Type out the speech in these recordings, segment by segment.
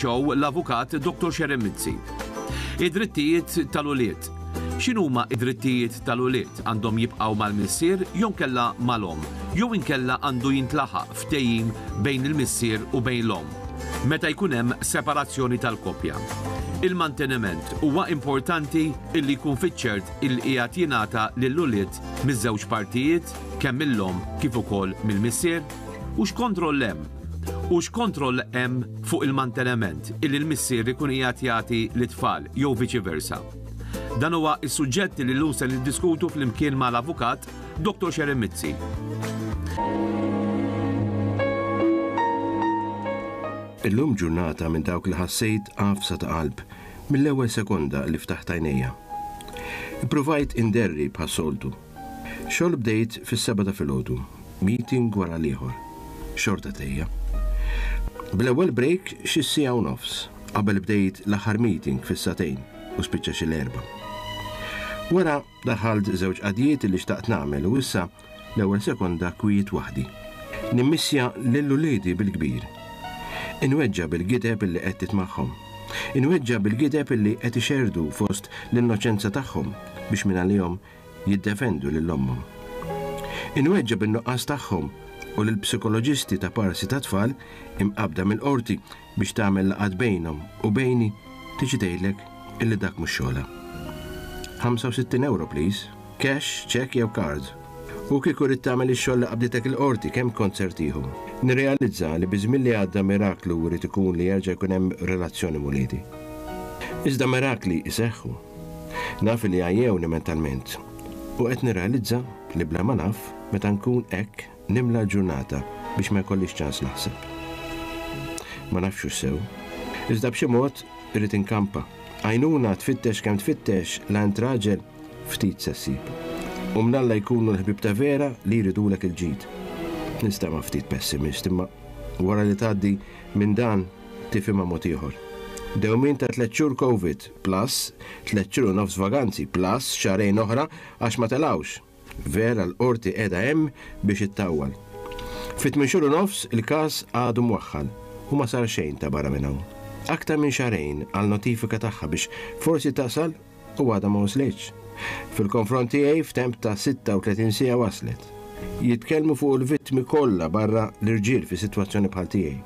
Show l-Avukat Dottor Sharon Mizzi. Id-drittijiet tal-ulied. X'inhuma id-drittijiet tal-ulied? Għandhom jibqgħu mal-missier jew inkella mal-omm, jew inkella għandu jintlaħaq ftehim bejn il-missier u bejn l-omm meta jkun hemm separazzjoni tal-koppja. Il-manteniment huwa importanti illi jkun fiċ-ċert illi qiegħed jingħata lill-ulied miż-żewġ partijiet, kemm mill-omm kif ukoll mill-missier? U x'kontroll hemm? U x'kontroll hemm fuq il-manteniment illi l-missier ikun qiegħed jagħti lit-tfal jew viċi versa? Dan huwa s-suġġett li llum se niddiskutu flimkien mal-Avukat Dottor Sharon Mizzi. Illum ġurnata minn dawk li ħassejt għafsa ta' qalb mill-ewwel sekonda li ftaħt għajnejja. Ippruvajt inderri bħas-soltu. Xogħol bdejt fis-sebgħa ta' filgħodu, meeting wara l-ieħor. Xorta tgħejja. Bl-ewwel break xi siegħa u nofs, qabel bdejt l-aħħar meeting fis-sagħtejn u spiċċa xi l-erbgħa. Wara daħħalt żewġ qadjiet li xtaqt nagħmel u issa l-ewwel sekonda kwiet waħdi. Nimmissja lil uliedi bil-kbir. Inweġġa' bil-gideb li qed titmagħhom. Inweġġa' bil-gideb li qed ixerrdu fost l-innoċenza tagħhom biex mingħalihom jiddefendu lil ommhom. Inweġġa' bin-nuqqas tagħhom u lill-psikoloġisti ta' parsi tat-tfal imqabbda mill-qorti biex tagħmel laqgħat bejnhom u bejni tiġi tgħidlek illi dak mhux xogħolha. 65 ewro please, cash, cheque jew card. U kieku ridt tagħmel ix-xogħol li qabditek il-qorti kemm kont ser tieħu? Nirrealizza li biż-żmien li għadda miraklu jrid ikun li jerġa' jkun hemm relazzjoni m'uliedi. Iżda mirakli jseħħu. Naf li għajjewni mentalment u qed nirrealizza li bla ma naf, meta nkun hekk nimla l-ġurnata biex ma jkollix ċans naħseb. Ma nafx hux sew. Iżda b'xi mod irrid inkampa. Għajnuna tfittex kemm tfittex la int raġel ftit se ssib. U mnalla jkunu l-ħbieb ta' vera li jridulek il-ġid. Ninstema' ftit pessimist imma wara li tgħaddi minn dan tifhimha mod ieħor. Dewmien ta' tlett xhur Covid, plus tlett xhur u nofs vaganzi, plus xahrejn oħra għax ma telgħux. Vera l-Qorti qiegħda hemm biex ittawwal. Fi tmien xhur u nofs il-każ għadu mwaħħal u ma sar xejn ta' barra minn hawn. Aktar minn xahrejn għal notifika tagħha biex forsi tasal u għadha ma waslitx. Fil-konfront tiegħi f'temp ta' 36 siegħa waslet. Jitkellmu fuq il-vittmi kollha barra l-irġiel fi sitwazzjoni bħal tiegħi.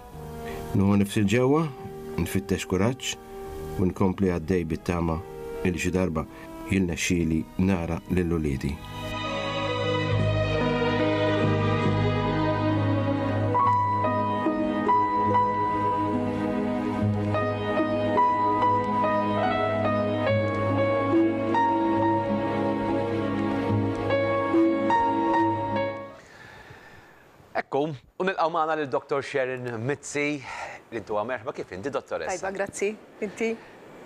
Nieħu nifs 'il ġewwa, nfittex kuraġġ u nkompli għaddej bit-tama li xi darba jirnexxieli nara lil uliedi. Ekku, u nilqgħu magħna lil Dr. Sharon Mizzi, li intuha merħba kif inti dottoressa. Tajba, grazzi. Inti?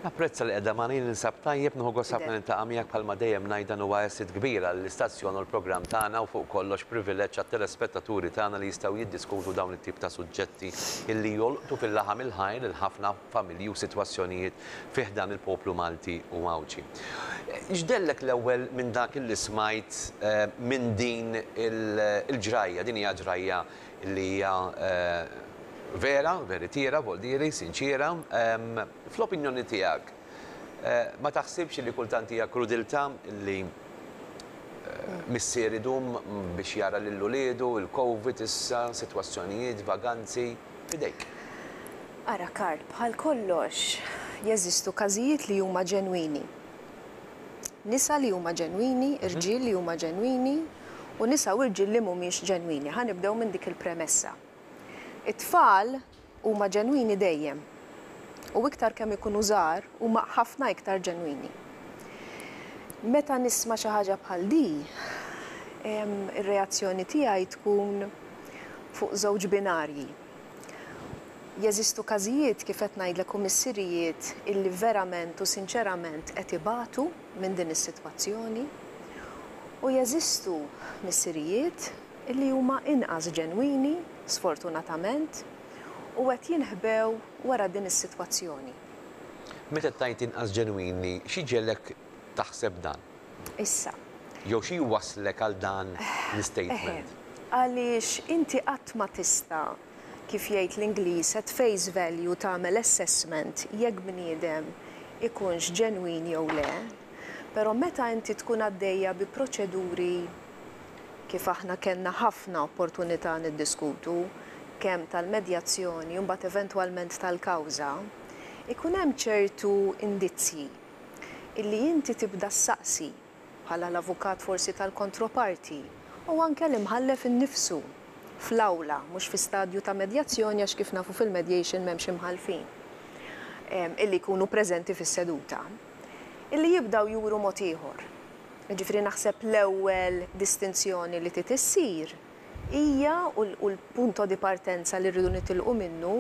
Napprezza li qiegħda magħna, jien ninsab tajjeb, nieħu gost ħafna niltaqa' miegħek bħalma dejjem ngħid dan huwa asset kbir għall-istazzjon u l-programm tagħna u fuq kollox privileġġ għat-telespettaturi tagħna li jistgħu jiddiskutu dawn it-tip ta' suġġetti illi jolqtu fil-laħam il-ħaj lil ħafna familji u sitwazzjonijiet fi ħdan il-poplu Malti u Għawdxi. X'dellek l-ewwel minn dak illi smajt minn din il-ġrajja? Din hija ġrajja li hija vera, veritiera, voldieri, sinċiera. Fl-opinjoni tiegħek, ma taħsibx li kultant hija krudiltà li missier idum biex jara lil uliedu, il-Covid issa, sitwazzjonijiet, vaganzi, f'idejk? Ara Karl, bħal kollox jeżistu każijiet li huma ġenwini. Nisa li huma ġenwini, irġiel li huma ġenwini u nisa u rġiel li mhumiex ġenwini. Ħa nibdew minn dik il-premessa. It-tfal huma ġenwini dejjem. U iktar kemm ikunu żgħar huma ħafna iktar ġenwini. Meta nisma' xi ħaġa bħal di, ir-reazzjoni tiegħi tkun fuq żewġ binarji. Jeżistu każijiet, kif qed ngħidlek, u missirijiet illi verament u sinċerament qed ibatu minn din is-sitwazzjoni, u jeżistu missirijiet illi huma inqas ġenwini, sfortunatament, u qed jinħbew wara din is-sitwazzjoni. Meta tgħid inqas ġenwini, xi jġegħlek taħseb dan? Issa. Jew xi jwasslek għal dan l-istatement? Eħe. Għaliex inti qatt ma tista', kif jgħid l-Ingliż, at face value tagħmel assessment jekk bniedem ikunx ġenwin jew le, però meta inti tkun għaddejja bi proċeduri kif aħna kellna ħafna opportunità niddiskutu, kemm tal-medjazzjoni u mbagħad eventwalment tal-kawża, ikun hemm ċertu indizji illi inti tibda ssaqsi bħala l-avukat forsi tal-kontroparti u anke l-imħallef innifsu fl-awla, mhux fi stadju ta' medjazzjoni għax kif nafu fil-mediation m'hemmx imħallfin illi jkunu preżenti fis-seduta, illi jibdaw juru mod ieħor. Jiġifieri naħseb l-ewwel distinzjoni li trid issir hija u l-punto di partenza li rridu nitilqu minnu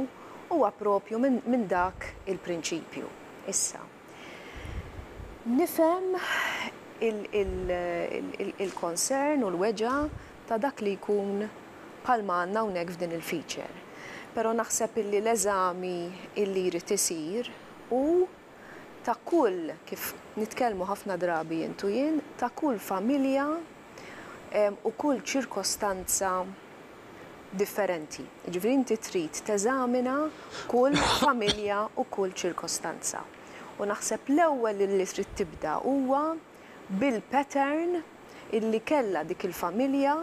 huwa propju minn dak il-prinċipju. Issa, nifhem il-concern u l-weġgħa ta' dak li jkun bħalma għandna hawnhekk f'din il-feature. Però naħseb illi l-eżami illi jrid isir hu ta' kull, kif nitkellmu ħafna drabi int u jien, ta' kull familja u kull ċirkostanza differenti. Jiġifieri inti trid teżamina kull familja u kull ċirkostanza. U naħseb l-ewwel li trid tibda huwa bil-pattern illi kellha dik il-familja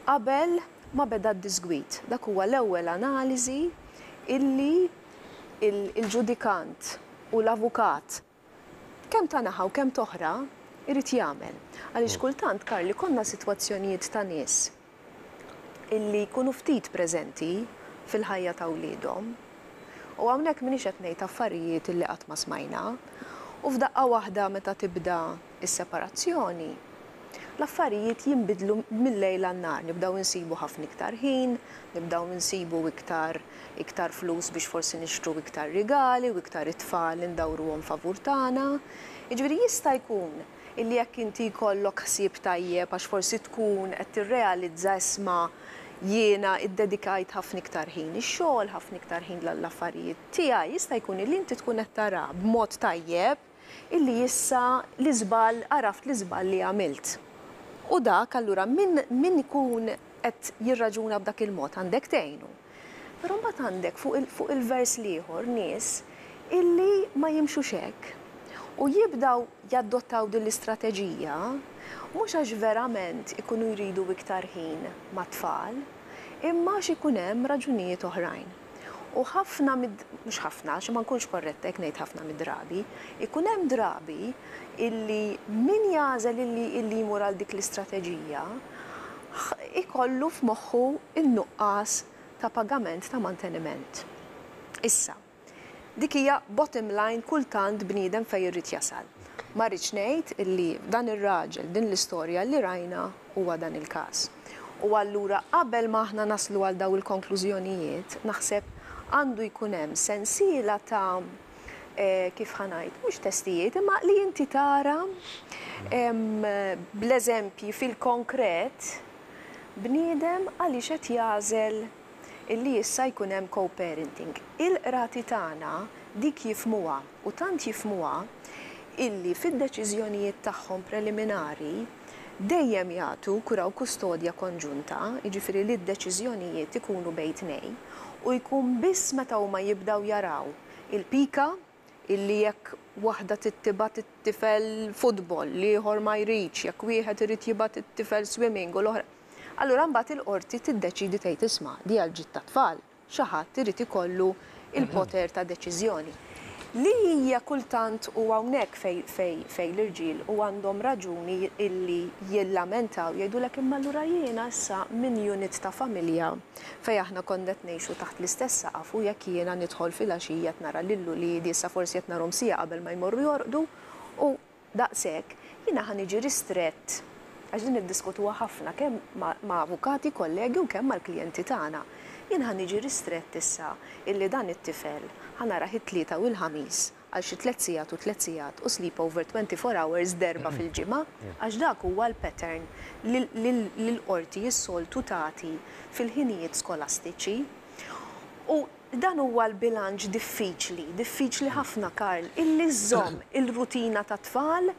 qabel ma beda d-diżgwid. Dak huwa l-ewwel analiżi illi il-ġudikant u l-avukat kemm ta' naħa u kemm t'oħra jrid jagħmel. Għaliex kultant, Karl, ikollna sitwazzjonijiet ta' nies illi jkunu ftit preżenti fil-ħajja ta' wliedhom. U hawnhekk m'iniex qed ngħid affarijiet illi qatt ma smajna. U f'daqqa waħda meta tibda s-separazzjoni, l-affarijiet jinbidlu mil-lejl għan-nhar, nibdew insibu ħafna iktar ħin, nibdew insibu iktar iktar flus biex forsi nixtru iktar rigali u iktar it-tfal indawruhom favur tagħna. Jiġifieri jista' jkun illi jekk inti jkollok ħsieb tajjeb għax forsi tkun qed tirrealizza isma' jiena iddedikajt ħafna iktar ħin ix-xogħol, ħafna iktar ħin l-affarijiet tiegħi, jista' jkun illi inti tkun qed tara b'mod tajjeb illi issa l-iżball, għaraft l-iżball li għamilt. U dak allura min min ikun qed jirraġuna b'dak il-mod għandek tgħinu. Però mbagħad għandek fuq il fuq il-vers l-ieħor nies illi ma jimxux hekk u jibdaw jaddottaw din l-istrateġija mhux għax verament ikunu jridu iktar ħin mat-tfal imma għax ikun hemm raġunijiet oħrajn. U ħafna mid, mhux ħafna, għax ma nkunx korretta jekk ngħid ħafna mid-drabi, ikun hemm drabi illi min jagħżel illi illi jmur għal dik l-istrateġija ikollu f'moħħu n-nuqqas ta' pagament ta' manteniment. Issa, Dik hija bottom line kultant bniedem fejn irid jasal. Ma rridx ngħid illi dan ir-raġel, din l-istorja li rajna huwa dan il-każ. U allura qabel ma aħna naslu għal dawn il-konklużjonijiet, naħseb għandu jkun hemm sensiela ta' kif ħa ngħid, mhux testijiet, imma li inti tara bl-eżempji fil-konkret bniedem għaliex qed jagħżel illi issa jkun hemm co-parenting. Il-qrati tagħna dik jifhmuha u tant jifhmuha illi fid-deċiżjonijiet tagħhom preliminari dejjem jagħtu kura u kustodja konġunta, jiġifieri li d-deċiżjonijiet ikunu bejn tnejn u jkun biss meta huma jibdew jaraw il-pika illi jekk waħda trid tibgħat it-tifel futbol, l-ieħor ma jridx, jekk wieħed irid jibgħat it-tifel swimming u l-oħra. Allura mbagħad il-qorti tiddeċiedi tgħid isma' di għall-ġid tat-tfal, xi ħadd irid ikollu l-poter ta' deċiżjoni. Li hija kultant u hawnhekk fejn fejn fejn l-irġiel u għandhom raġuni illi jillamentaw jgħidulek imma allura jiena issa minn unit ta' familja fejn aħna konna qed ngħixu taħt l-istess saqaf u jekk jiena nidħol filgħaxija qed nara lil uliedi issa forsi qed narhom siegħa qabel ma jmorru jorqdu u daqshekk, jiena ħa niġi ristrett għax din niddiskutuha ħafna kemm ma' avukati, kollegi u kemm mal-klijenti tagħna. Jien ħa niġi ristrett issa illi dan it-tifel ħa narah it-Tlieta u l-Ħamis għal xi tliet sigħat u tliet sigħat u sleepover 24 hours darba fil-ġimgħa għax dak huwa l-pattern li l-qorti s-soltu tagħti fil-ħinijiet skolastiċi. U dan huwa l-bilanċ diffiċli, diffiċli ħafna Karl, illi żżomm il-rutina tat-tfal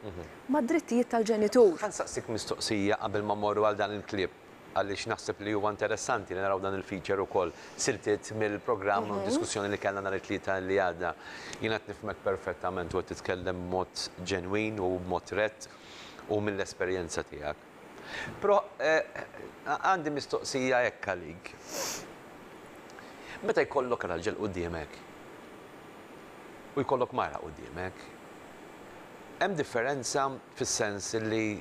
mad-drittijiet tal-ġenitur. Ħa nsaqsik mistoqsija qabel ma mmorru għal dan il-clip. għaliex naħseb li huwa interessanti li naraw dan il-feature ukoll siltiet mill-programm u diskussjoni li kellna nhar it-Tlieta li għadda. Jiena qed nifhmek perfettament u qed titkellem b'mod ġenwin u b'mod rett u mill-esperjenza tiegħek. Però għandi mistoqsija hekk għalik. Meta jkollok raġel quddiemek u jkollok mara quddiemek, hemm differenza fis-sens li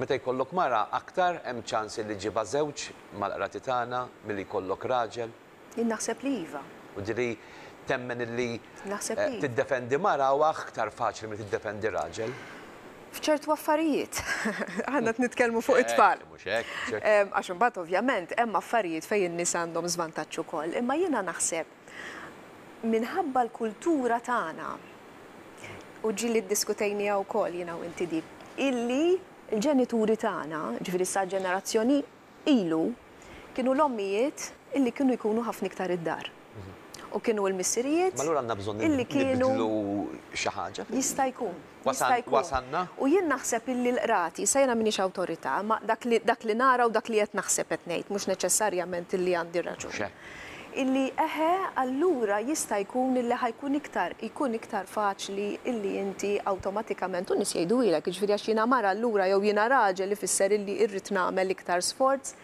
meta jkollok mara aktar hemm ċans li ġġibha żewġ mal-qrati tagħna milli jkollok raġel? Jien naħseb li iva. Jiġifieri temmen illi Naħseb li iva. tiddefendi mara huwa aktar faċli milli tiddefendi raġel? F'ċertu affarijiet. Aħna qed nitkellmu fuq it-tfal. Mhux hekk, mhux hekk. Għax imbagħad ovvjament hemm affarijiet fejn in-nisa għandhom żvantaġġ ukoll. Imma jiena naħseb minħabba l-kultura tagħna u ġieli ddiskutejniha wkoll jiena u inti di, illi l-ġenituri tagħna, ġifieri sa ġenerazzjoni ilu, kienu l-ommijiet illi kienu jkunu ħafna iktar id-dar. U kienu l-missirijiet Ma allura għandna bżonn illi kienu nibdlu xi ħaġa. Jista' jkun. Jista' jkun. Wasalna? U jien naħseb illi l-qrati, sa jiena m'iniex awtorità, ma dak li dak li nara u dak li qed naħseb qed ngħid, mhux neċessarjament illi għandi raġun. Mhux hekk. Illi eħe allura jista' jkun illi ħa jkun iktar jkun iktar faċli illi inti awtomatikament u n-nies jgħiduhielek, jiġifieri għax jiena mara allura jew jiena raġel ifisser illi irrid nagħmel iktar sforz.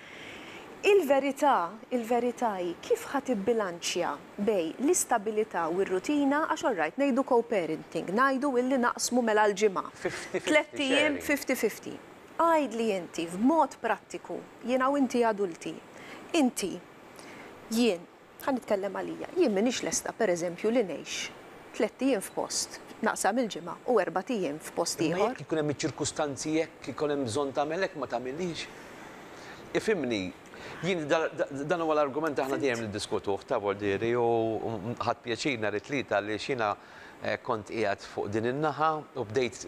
Il-verità, il-verità hi kif ħa tibbilanċja bejn l-istabilità u r-rutina għax all right ngħidu co-parenting, ngħidu illi naqsmu mela l-ġimgħa. Fifty-fifty Tlett ijiem sharing. fifty-fifty. Għidli inti f'mod prattiku, jiena u inti adulti, inti Jien, ħa nitkellem għalija, jien m'iniex lesta pereżempju li ngħix tlett ijiem f'post, naqsam il-ġimgħa, u erbat ijiem f'post Imma ieħor. jekk ikun hemm iċ-ċirkustanzi hekk, ikun hemm bżonn tagħmel hekk ma tagħmilhiex. Ifhimni, jien dan huwa l-argument aħna dejjem niddiskutuh ta' Voldieri u ħadt pjaċir nhar it-Tlieta għaliex jiena kont qiegħed fuq din in-naħa u bdejt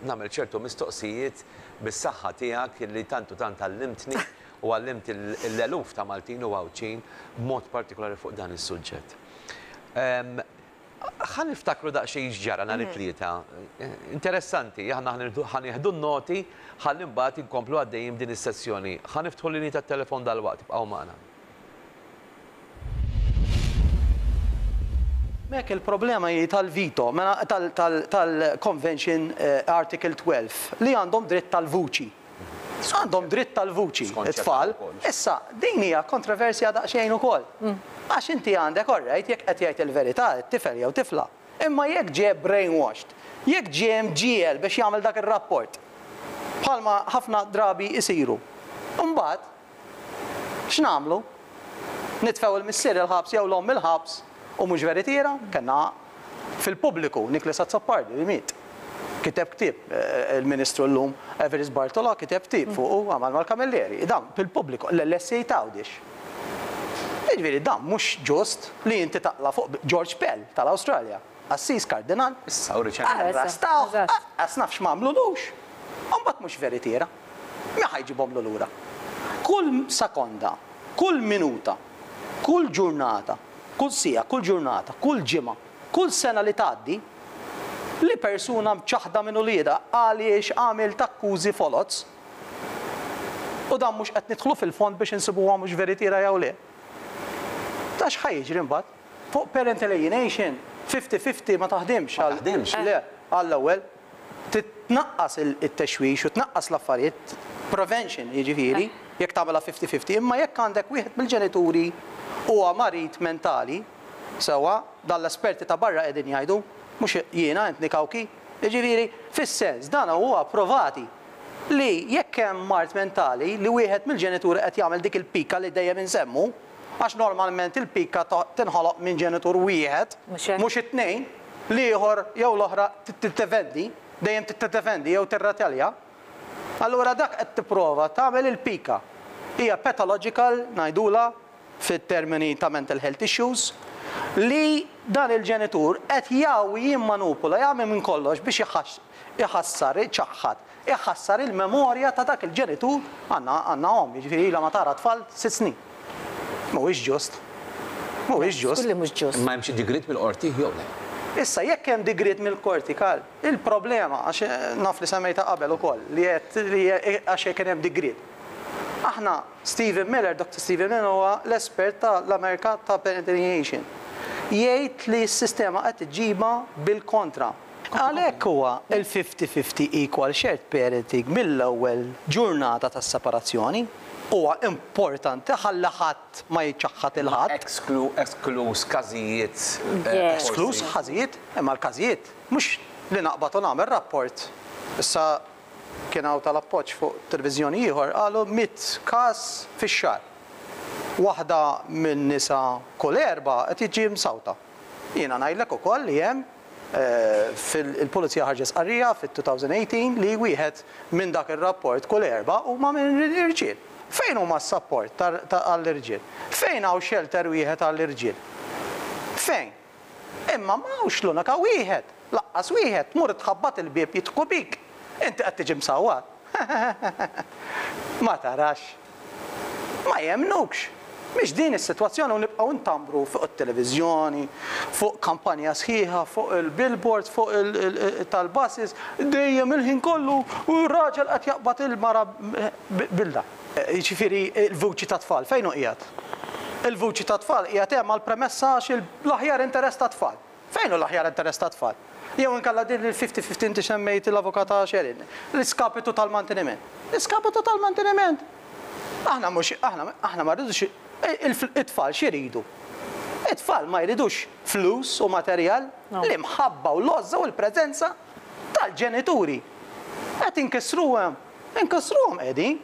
nagħmel ċertu mistoqsijiet bis-saħħa tiegħek li tant u tant għallimtni u għallimt l-eluf ta' Maltin u Għawdxin b'mod partikolari fuq dan is-suġġett. Ħa niftakru daqsxejn x'ġara nhar it-Tlieta. Interessanti, aħna ħa nieħdu n-noti ħalli mbagħad inkomplu għaddejjin b'din is-sessjoni. Ħa niftħu l-linji tat-telefon dalwaqt, ibqgħu magħna. Mek il-problema hi tal-veto, mela tal-Convention Article 12 li għandhom dritt tal-vuċi. Għandhom dritt tal-vuċi it-tfal. Issa, din hija kontroversja daqsxejn ukoll. Għax inti għandek all right jekk qed jgħid il-verità t-tifel jew tifla. Imma jekk ġie brainwashed, jekk ġie mġiegħel biex jagħmel dak ir-rapport, bħalma ħafna drabi jsiru, imbagħad X'nagħmlu? Nitfgħu il-missier il-ħabs jew l-omm il-ħabs u mhux veritiera? Kellna fil-pubbliku Nicholas Azzopardi li miet. Kiteb ktieb, il-Ministru llum Evarist Bartolo kiteb ktieb fuqu għamal mal-Camilleri. Dan fil-pubbliku, l-LSE t'Għawdex. Jiġifieri dan mhux ġust li inti taqla' fuq George Pell tal-Awstralja. Qassis kardinal. Issa u riċentement. Arrestawh, aqqas naf x'm'għamlulux. U mbagħad mhux veritiera. Min ħa jġibhomlu lura? Kull sekonda, kull minuta, kull ġurnata, kull siegħa, kull ġurnata, kull ġimgħa, kull sena li tgħaddi, li persuna mċaħħda minn uliedha għaliex għamilt akkużi foloz, u dan mhux qed nidħlu fil-fond biex insibuha mhux veritiera jew le, ta' x'ħa jiġri mbagħad? Fuq parental alienation, fifty fifty ma taħdimx għal. Ma taħdimx? Le, għall-ewwel. Trid tnaqqas it-texwix u tnaqqas l-affarijiet, prevention jiġifieri, jekk tagħmilha fifty fifty, imma jekk għandek wieħed mill-ġenituri huwa marid mentali, sewwa, dan l-esperti ta' barra qegħdin jgħidu, mhux jiena Anthony Cauchi, jiġifieri, fis-sens dan huwa provati li jekk hemm mard mentali li wieħed mill-ġenituri qed jagħmel dik il-pika li dejjem insemmu, Għax normalment il-pika tinħoloq minn ġenitur wieħed, mhux it-tnejn, l-ieħor jew l-oħra tiddefendi, dejjem tiddefendi jew tirretalja. Allura dak qed tipprova tagħmel il-pika. Hija pathological ngħidulha fit-termini ta' mental health issues, li dan il-ġenitur qed jgħawwi, jimmanupula, jagħmel minn kollox biex iħassar, iċaħħad Iħassar il-memorja ta' dak il-ġenitur, għandna għandna omm, jiġifieri ilha ma tara tfal sitt snin. Mhuwiex ġust. Mhuwiex ġust. Żgur li mhux ġust. Imma hemm xi digriet mill-qorti jew le? Issa, jekk hemm digriet mill-qorti, Karl, il-problema, għax naf li semmejtha qabel ukoll, li għedt li għax kien hemm digriet. Aħna Stephen Miller, Doctor Stephen Miller huwa l-espert ta' l-Amerika ta' parental Jgħid li s-sistema qed iġġibha bil-kontra. Għalhekk huwa l-fifty-fifty equal shared parenting mill-ewwel ġurnata tas-separazzjoni. Huwa importanti ħalli ħadd ma jiċċaħħad 'il ħadd. Eskluż każijiet forsi. Eskluż każijiet, imma l-każijiet mhux li naqbad u nagħmel rapport. Issa kien hawn tal-Appoġġ fuq televiżjoni ieħor qalu mitt każ fix-xahar. Waħda minn nisa kull erbgħa qed jiġi msawta. Jiena ngħidlek ukoll li hemm fil-Pulizija ħarġet stqarrija fit-2018 li wieħed minn dak ir-rapport kull erbgħa huma minn irġiel. Fejn huma s-sapport għall-irġiel? Fejn hawn shelter wieħed għall-irġiel? Fejn? Imma ma hawnx l-unika wieħed, laqqas wieħed, tmur tħabbat il-bieb jidħku bik. Inti qed tiġi msawwat. Ma tarax. Ma jemmnukx. Mhix din is-sitwazzjoni u nibqgħu ntambru fuq it-televiżjoni, fuq kampanja sħiħa, fuq il-billboards, fuq tal-buses, dejjem il-ħin kollu u r-raġel qed jaqbad il-mara bil-da. Jiġifieri l-vuċi tat-tfal fejn hu qiegħed? Il-vuċi tat-tfal qiegħed hemm għall-premessa għax l-aħjar interess tat-tfal. Fejn hu l-aħjar interess tat-tfal? Jew inkella din il-fifty fifty inti semmejt l-Avukata Sherin, l-iskapitu tal-manteniment. L-iskapitu tal-manteniment! Aħna mhux, aħna, aħna ma rridux, it-tfal x'iridu? It-tfal ma jridux flus u materjal, l-imħabba u l-għożża u l-preżenza tal-ġenituri. Qed inkissruhom, inkissruhom qegħdin.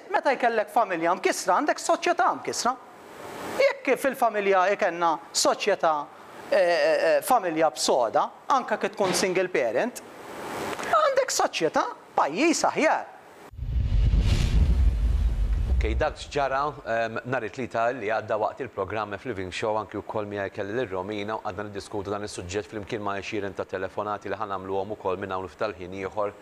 Meta jkellek familja mkissra għandek soċjetà mkissra. Jekk fil-familja ikellna soċjetà familja b'soda, anke kif tkun single parent, għandek soċjetà, pajjiż aħjar. Ok, dak x'ġara nhar it-Tlieta li għadda waqt il-programm F-Living Show anki wkoll miegħi kelli lil Romina u qgħadna niddiskutu dan is-suġġett flimkien ma' għexieren ta' telefonati li ħa nagħmluhom ukoll minn hawn u ftit tal-ħin ieħor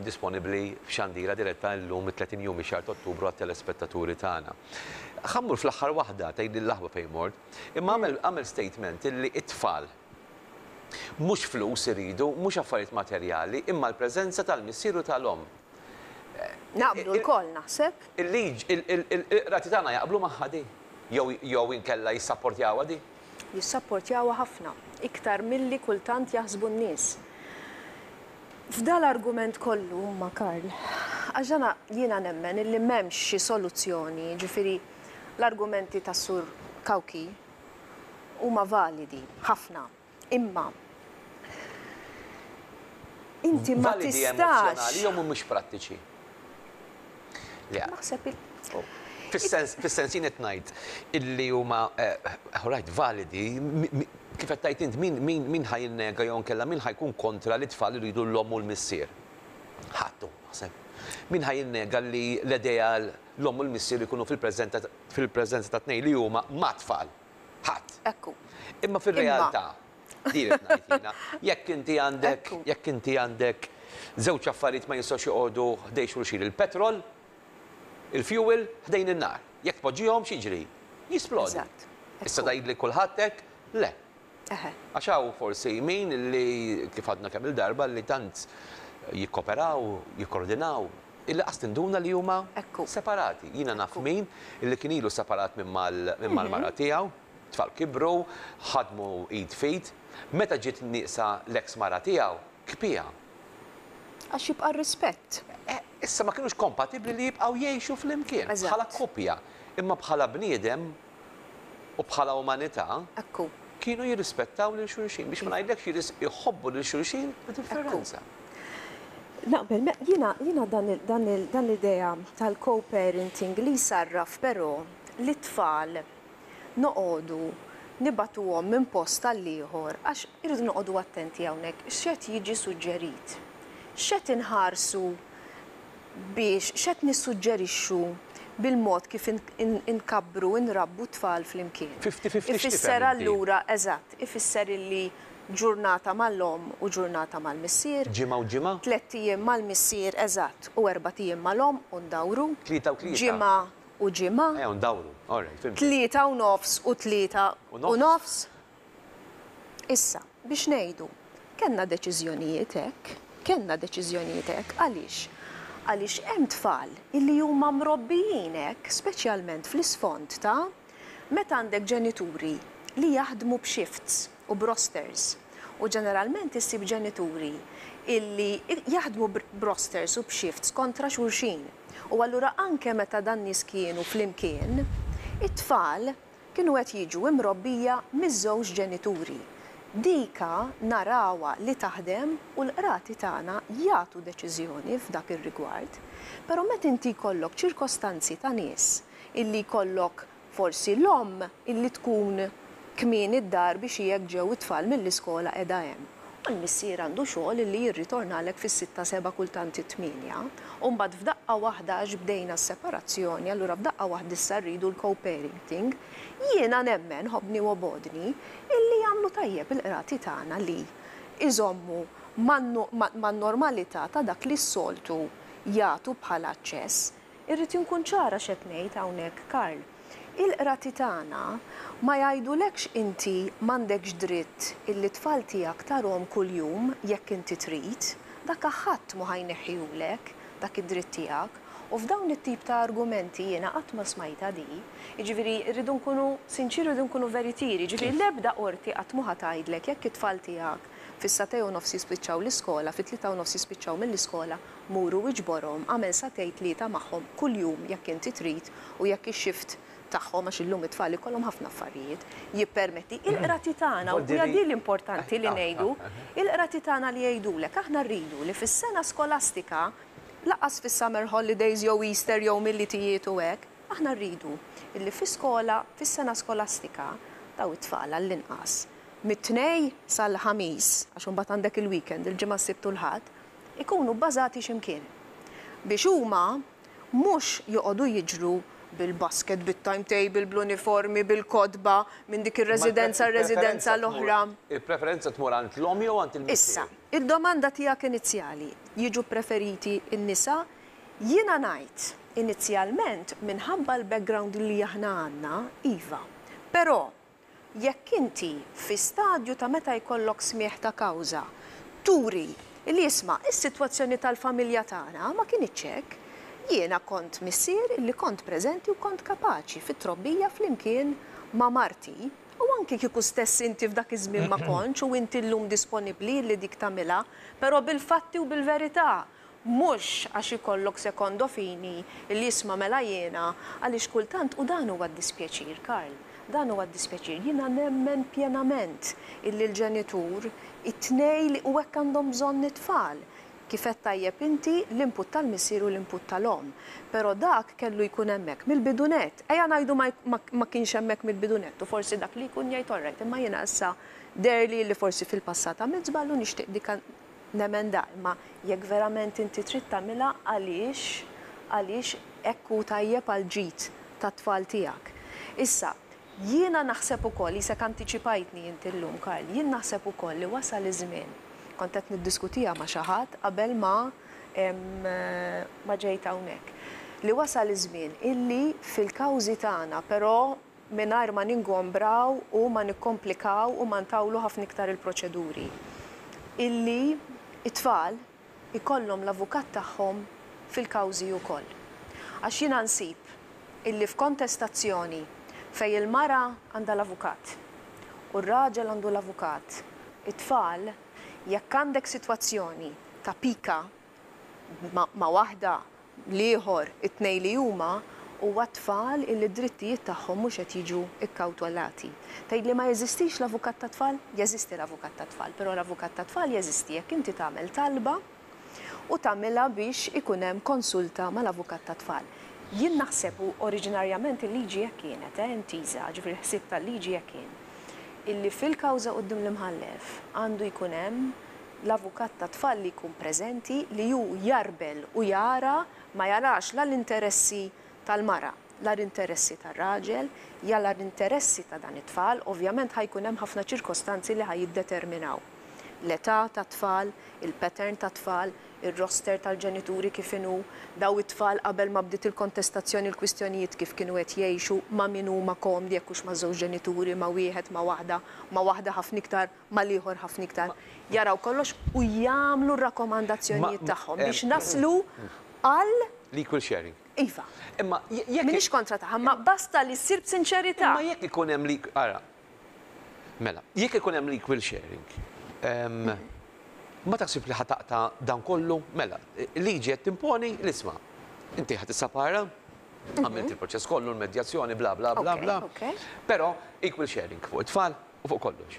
disponibbli f'xandira diretta illum it-30 jum mix-xahar ta' Ottubru għat-telespettaturi tagħna. Ħa mmur fl-aħħar waħda, tgħidli l-aħwa fejn mort, imma għamel għamel statement illi t-tfal mhux flus iridu, mhux affarijiet materjali, imma l-preżenza tal-missier u tal-omm. Naqblu lkoll naħseb. Il-liġ, il-qrati tagħna jaqblu magħha di? Jew jew inkella jissapportjawha di? Jissapportjawha ħafna, iktar milli kultant jaħsbu n-nies. F'dal-argument kollu, imma Karl, għax dana jiena nemmen illi m'hemmx xi soluzzjoni, jiġifieri l-argumenti tas-Sur Cauchi huma validi ħafna, imma inti ma Validi tistax. emozzjonali jew mhumiex prattiċi? Le. Naħseb il. Fis-sens, fis-sens jien qed ngħid illi huma, all right, validi, kif qed tgħid int, min, min, min ħa jinnega jew inkella min ħa jkun kontra li t-tfal iridu l-omm u l-missier? Ħadd hu, naħseb. Min ħa jinnega li l-ideal l-omm u l-missier ikunu fil-preżenta, fil-preżenza tat-tnejn li huma mat-tfal? Ħadd. Ekku. Imma fir-realtà, din qed ngħid jiena, jekk inti għandek, jekk inti għandek żewġ affarijiet ma jistgħux joqogħdu ħdejn xulxin, il-petrol, il-fuel ħdejn in-nar. Jekk tpoġġihom x'jiġri? Jisplodi. Eżatt. Issa tgħidli kulħadd hekk? Le. Eħe. Għax hawn forsi min li kif għadna kemm-il darba li tant jikkoperaw, jikkordinaw, illi qas tinduna li huma separati. Jiena naf min illi kien ilu separat minn mal-mara tiegħu, tfal kibru, ħadmu id f'id, meta ġiet nieqsa l-eks mara tiegħu, kpiha. Għax jibqa' r-rispett. Issa ma kinux kompatibbli li jibqgħu jgħixu flimkien bħala koppja, imma bħala bniedem u bħala umanità kienu jirrispettaw lil xulxin, biex ma ngħidlekx jħobbu lil xulxin b'differenza. Naqbel, jiena jiena dan l-idea tal-co-parenting li jsarraf però lit-tfal noqogħdu nibagħtuhom minn post għall-ieħor għax irridu noqogħdu attenti hawnhekk x'qed jiġi suġġerit. X'qed inħarsu biex, x'qed nissuġġerixxu bil-mod kif inkabbru, inrabbu t-tfal flimkien. Fifty-fifty x'tifhem inti? Ifisser allura, eżatt, ifisser illi ġurnata mal-omm u ġurnata mal-missier. Ġimgħa u ġimgħa? Tlett ijiem mal-missier, eżatt, u erbat ijiem mal-omm u ndawru. Tlieta u tlieta. Ġimgħa u ġimgħa. Ejja ndawru, all right, fhimtek. Tlieta u nofs u tlieta u nofs. Issa, biex ngħidu, kellna deċiżjonijiet hekk, kellna deċiżjonijiet hekk, għaliex? Għaliex hemm tfal illi huma mrobbijin hekk, speċjalment fl-isfond ta' meta għandek ġenituri li jaħdmu b'shifts u b'rosters. U ġeneralment issib ġenituri illi jaħdmu b'rosters u b'shifts kontra xulxin. U allura anke meta dan-nies kienu flimkien, it-tfal kienu qed jiġu imrobbija miż-żewġ ġenituri. Dika narawha li taħdem u l-qrati tagħna jagħtu deċiżjoni f'dak ir-rigward. Però meta inti jkollok ċirkostanzi ta' nies illi jkollok forsi l-omm illi tkun kmieni d-dar biex hi jekk ġew it-tfal mill-iskola qiegħda hemm u l-missier għandu xogħol illi jirritornalek fis-sitta seba' kultant it-tmienja u mbagħad f'daqqa waħda għax bdejna s-separazzjoni allura f'daqqa waħda issa rridu l-co-parenting, jiena nemmen, ħobbni u obgħodni, illi jagħmlu tajjeb il-qrati tagħna li jżommu man-normalità ta' dak li s-soltu jagħtu bħala aċċess. Irrid inkun ċara x'qed ngħid hawnhekk, Karl. Il-qrati tagħna ma jgħidulekx inti m'għandekx dritt illi t-tfal tiegħek tarhom kuljum jekk inti trid, dak ħadd mhu ħa jneħħihulek dak id-dritt tiegħek. U f'dawn it-tip ta' argumenti jiena qatt ma smajtha di. Jiġifieri rridu nkunu sinċieri rridu nkunu veritieri, jiġifieri l-ebda qorti qatt mhu ħa tgħidlek jekk it-tfal tiegħek fis-sagħtej u nofs jispiċċaw l-iskola, fit-tlieta u nofs jispiċċaw mill-iskola, mur u iġborhom, agħmel sagħtejn tlieta magħhom kuljum jekk inti trid u jekk ix-shift tagħhom, għax illum it-tfal ikollhom ħafna affarijiet, jippermetti. Il-qrati tagħna, u hija din l-importanti li ngħidu, il-qrati tagħna li jgħidulek aħna rridu li fis-sena skolastika, lanqas fis-summer holidays jew Easter jew Milied u hekk, aħna rridu illi fi skola, fis-sena skolastika, dawn it-tfal għall-inqas, mit-Tnejn sal-Ħamis, għax imbagħad għandek il-weekend, il-Ġimgħa, s-Sibt u l-Ħadd, ikunu bbażati xi mkien. Biex huma mhux joqogħdu jiġru bil-basket, bit-timetable, bl-uniformi, bil-kotba, minn dik ir-residenza għar-residenza l-oħra. Il-preferenza tmur għand l-omm jew għand il-missier? Issa, id-domanda tiegħek inizjali, jiġu ppreferiti n-nisa? Jiena ngħid, inizjalment, minħabba l-background li aħna għandna, iva. Però, Jekk inti fi stadju ta' meta jkollok smigħ ta' kawża turi li isma' is-sitwazzjoni tal-familja tagħna ma kinitx hekk, jiena kont missier li kont preżenti u kont kapaċi fit-trobbija flimkien ma' marti, u anki kieku stess inti f'dak iż-żmien ma kontx u inti llum disponibbli li dik tagħmilha, però bil-fatti u bil-verità Mhux għax ikollok secondo fini li isma' mela jiena, għaliex kultant, u dan huwa d-dispjaċir, Karl, dan huwa d-dispjaċir, jiena nemmen pjenament illi l-ġenitur, it-tnejn li, u hekk għandhom bżonn it-tfal, kif għedt tajjeb inti, l-input tal-missier u l-input tal-omm. Però dak kellu jkun hemmhekk mill-bidu nett. Ejja ngħidu ma ma kienx hemmhekk mill-bidu nett u forsi dak li jkun jgħid all right, imma jiena issa deherli li forsi fil-passat għamilt żball u nixtieq dik Nemenda, imma jekk verament inti trid tagħmilha għaliex, għaliex hekk hu tajjeb għall-ġid tat-tfal tiegħek. Issa, jiena naħseb ukoll, qisek antiċipajtni inti llum Karl, jien naħseb ukoll li wasal iż-żmien, kont qed niddiskutiha ma' xi ħadd qabel ma ma ġejt hawnhekk, li wasal iż-żmien illi fil-kawżi tagħna, però mingħajr ma ningombraw u ma nikkomplikaw u ma ntawlu ħafna iktar il-proċeduri, illi t-tfal ikollhom l-avukat tagħhom fil-kawżi wkoll. Għax jiena nsib illi f'kontestazzjoni fejn il-mara għandha l-avukat u r-raġel għandu l-avukat, it-tfal, jekk għandek sitwazzjoni ta' pika ma' waħda, l-ieħor, it-tnejn li huma, huwa tfal illi d-drittijiet tagħhom mhux qed jiġu kkawtolati. Tgħidli ma jeżistix l-avukat tat-tfal? Jeżisti l-avukat tat-tfal, però l-avukat tat-tfal jeżisti jekk inti tagħmel talba u tagħmilha biex ikun hemm konsulta mal-avukat tat-tfal. Jien naħseb, u oriġinarjament il-liġi hekk kienet, eh, intiża, ġifieri l-ħsieb tal-liġi hekk kien, illi fil-kawża quddiem l-imħallef għandu jkun hemm l-avukat tat-tfal li jkun preżenti, li hu jarbel u jara, ma jarax la l-interessi tal-mara, la l-interessi tar-raġel, jara l-interessi ta' dan it-tfal, ovvjament ħa jkun hemm ħafna ċirkostanzi li ħa jiddeterminaw l-età tat-tfal, il-pattern tat-tfal, ir-roster tal-ġenituri kif inhu, daw it-tfal qabel ma bdiet il-kontestazzjoni l-kwistjonijiet kif kienu qed jgħixu, ma' min huma komdi jekk hux maż-żewġ ġenituri, ma' wieħed, ma' waħda, ma' waħda ħafna iktar mal-ieħor ħafna iktar, jaraw kollox u jagħmlu r-rakkomandazzjonijiet tagħhom biex naslu. Għal. L-equal sharing. Iva. Imma jekk. M'iniex kontra tagħha, imma basta li ssir b'sinċerità. Imma jekk ikun hemm l ara. Mela, jekk ikun hemm l-equal sharing, ma taħsib li ħa taqta' dan kollu? Mela, liġi qed timponi l-isma'. Inti ħa tissapara, għamilt il-proċess kollu, l-medjazzjoni, bla bla bla bla. Però equal sharing fuq it-tfal u fuq kollox.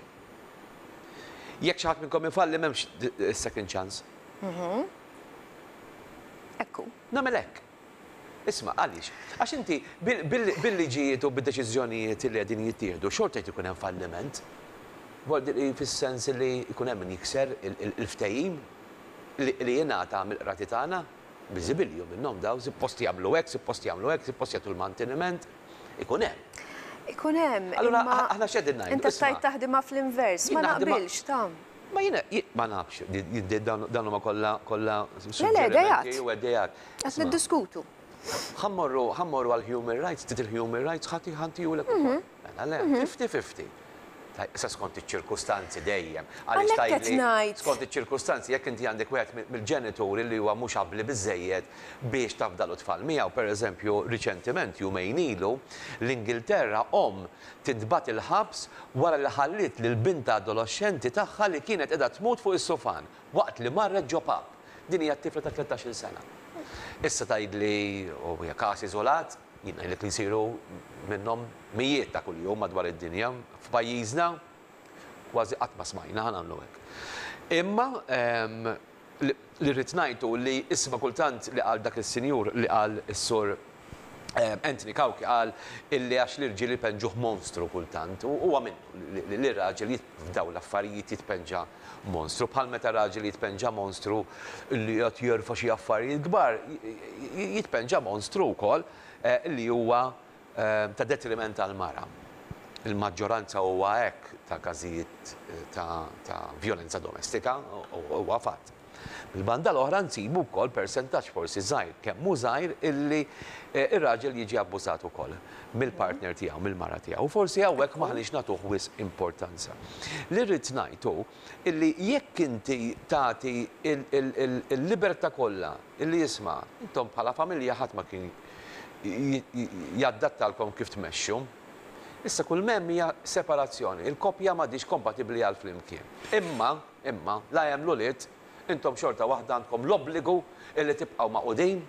Jekk xi ħadd minnkom ifalli m'hemmx second chance. Ekku. Nagħmel hekk. Isma', għaliex? Għax inti bil-liġijiet u bid-deċiżjonijiet li qegħdin jittieħdu xorta jrid ikun hemm falliment. Fis-sens li jkun hemm min jikser il-ftehim li jingħata mill-qrati tagħna, biżibilju minnhom dawn, suppost jagħmlu hekk, suppost jagħmlu hekk, suppost jagħtu l-manteniment. Ikun hemm. Ikun hemm. Allura aħna x'qegħdin ngħidu? Inti tgħid taħdimha fl-invers, ma naqbilx ta'. Ma jiena, ma nafx, dawn huma kollha kollha suġġerimenti u ideat. Qed niddiskutu. Ħa mmorru, ħa mmorru għal human rights, trid il-human rights ħa ħa ntihulek ukoll. Mela le, 50-50. Issa skont iċ-ċirkustanzi dejjem. Għaliex tgħidli skont iċ-ċirkustanzi jekk inti għandek wieħed mill-ġenituri li huwa mhux abbli biżżejjed biex tafdalu t-tfal miegħu, pereżempju riċentiment jumejn ilu l-Ingilterra omm tintbagħat il-ħabs wara li ħalliet lil bintha adoloxxenti tagħha li kienet qiegħda tmut fuq is-sufan waqt li marret ġo pub. Din hija tifla ta' 13-il sena. Issa tgħidli u hija każ iżolat, jien ngħidlek li jsiru minnhom mijiet ta' kuljum madwar id-dinja. F'pajjiżna kważi qatt ma smajna, ħa nagħmlu hekk. Imma li rrid ngħid hu li isma' kultant li qal dak is-sinjur li qal is-Sur Anthony Cauchi qal illi għax l-irġiel ipenġuh monstru kultant u huwa minnu li raġel f'dawn l-affarijiet jitpenġa monstru. Bħal meta raġel jitpenġa monstru li qed jerfa' xi affarijiet kbar, jitpenġa monstru wkoll li huwa ta' detriment għall-mara. Il-maġġoranza huwa hekk ta' każijiet ta' vjolenza domestika, huwa fatt. Mill-banda l-oħra nsibu wkoll persentaġġ forsi żgħir, kemm hu żgħir, illi r-raġel jiġi abbużat ukoll mill-partner tiegħu, mill-mara tiegħu. U forsi hawnhekk m'aħniex nagħtuh wisq importanza. Li rrid ngħid hu illi jekk inti tagħti l-libertà kollha illi isma' intom bħala familja ħadd ma kien jaddattalkom kif tmexxu. Issa kull m'hemm hija separazzjoni, il-koppja m'għadhiex kompatibbli għal flimkien. Imma Imma, la hemm l-ulied, intom xorta waħda għandkom l-obbligu illi tibqgħu magħqudin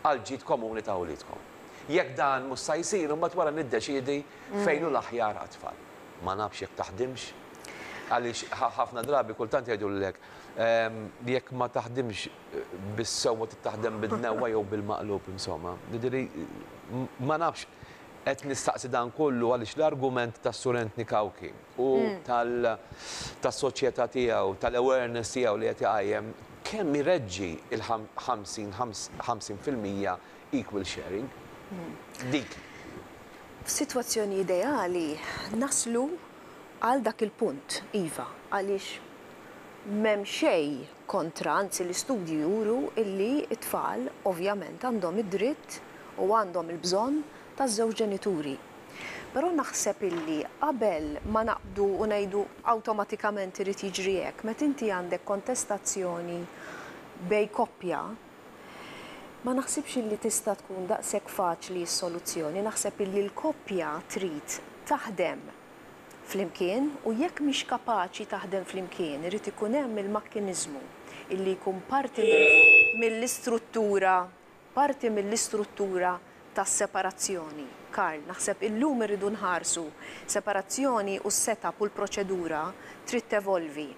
għall-ġid komuni ta' uliedkom. Jekk dan mhux sa jsir, imbagħad wara niddeċiedi fejn hu l-aħjar għat-tfal. Ma nafx jekk taħdimx, għaliex ħafna drabi kultant jgħidulek jekk ma taħdimx bis-sewwa trid taħdem bid-dnewwa jew bil-maqlub, insomma. Jiġifieri ma nafx, qed nistaqsi dan kollu għaliex l-argument tas-Sur Anthony Cauchi, u tas-soċjetà tiegħu, tal-awareness tiegħu li qed iqajjem, kemm ireġġi il-50 50% equal sharing? Dik. F'sitwazzjoni ideali naslu għal dak il-punt, iva, għaliex m'hemm xejn kontra, anzi l-istudji juru illi t-tfal ovvjament għandhom id-dritt u għandhom il-bżonn taż-żewġ ġenituri. Però naħseb illi qabel ma naqbdu u ngħidu awtomatikament irid jiġri hekk, meta inti għandek kontestazzjoni bejn koppja, ma naħsibx illi tista' tkun daqshekk faċli s-soluzzjoni. Naħseb illi l-koppja trid taħdem flimkien u jekk mhix kapaċi taħdem flimkien irid ikun hemm il-makkiniżmu illi jkun parti mill-istruttura parti mill-istruttura tas-separazzjoni. Karl, naħseb illum irridu nħarsu, separazzjoni u s-set-up u l-proċedura trid tevolvi.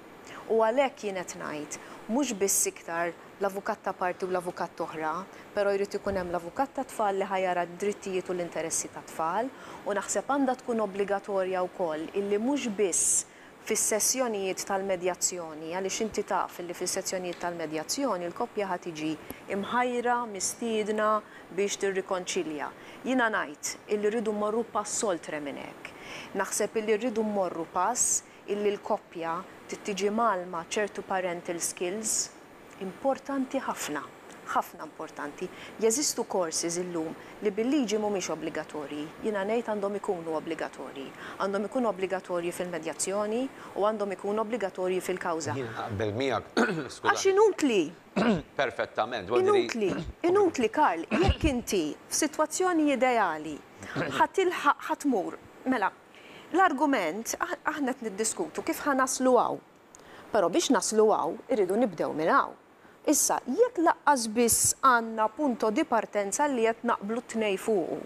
U għalhekk jien qed ngħid, mhux biss iktar l-avukat ta' parti u l-avukat t'oħra, però jrid ikun hemm l-avukat tat-tfal li ħa jara d-drittijiet u l-interessi tat-tfal u naħseb għandha tkun obbligatorja wkoll illi mhux biss fis-sessjonijiet tal-medjazzjoni, għaliex inti taf li fis-sezzjonijiet tal-medjazzjoni l-koppja ħa tiġi mħajra, mistiedna biex tirrikonċilja. Jiena ngħid illi rridu mmorru pass oltre minn hekk. Naħseb illi rridu mmorru pass illi l-koppja trid tiġi mgħallma ċertu parental skills importanti ħafna. Ħafna importanti. Jeżistu courses illum li bil-liġi mhumiex obbligatorji. Jiena ngħid għandhom ikunu obbligatorji. Għandhom ikunu obbligatorji fil-medjazzjoni u għandhom ikunu obbligatorji fil-kawża. Jiena naqbel miegħek, skużani. Għax inutli! Perfettament. Inutli, inutli Karl, jekk inti f'sitwazzjoni ideali ħa tilħaq ħa tmur, mela, l-argument aħna qed niddiskutu kif ħa naslu hawn. Però biex naslu hawn irridu nibdew minn hawn. Issa, jekk laqqas biss għandna punto di partenza li qed naqblu t-tnejn fuqu,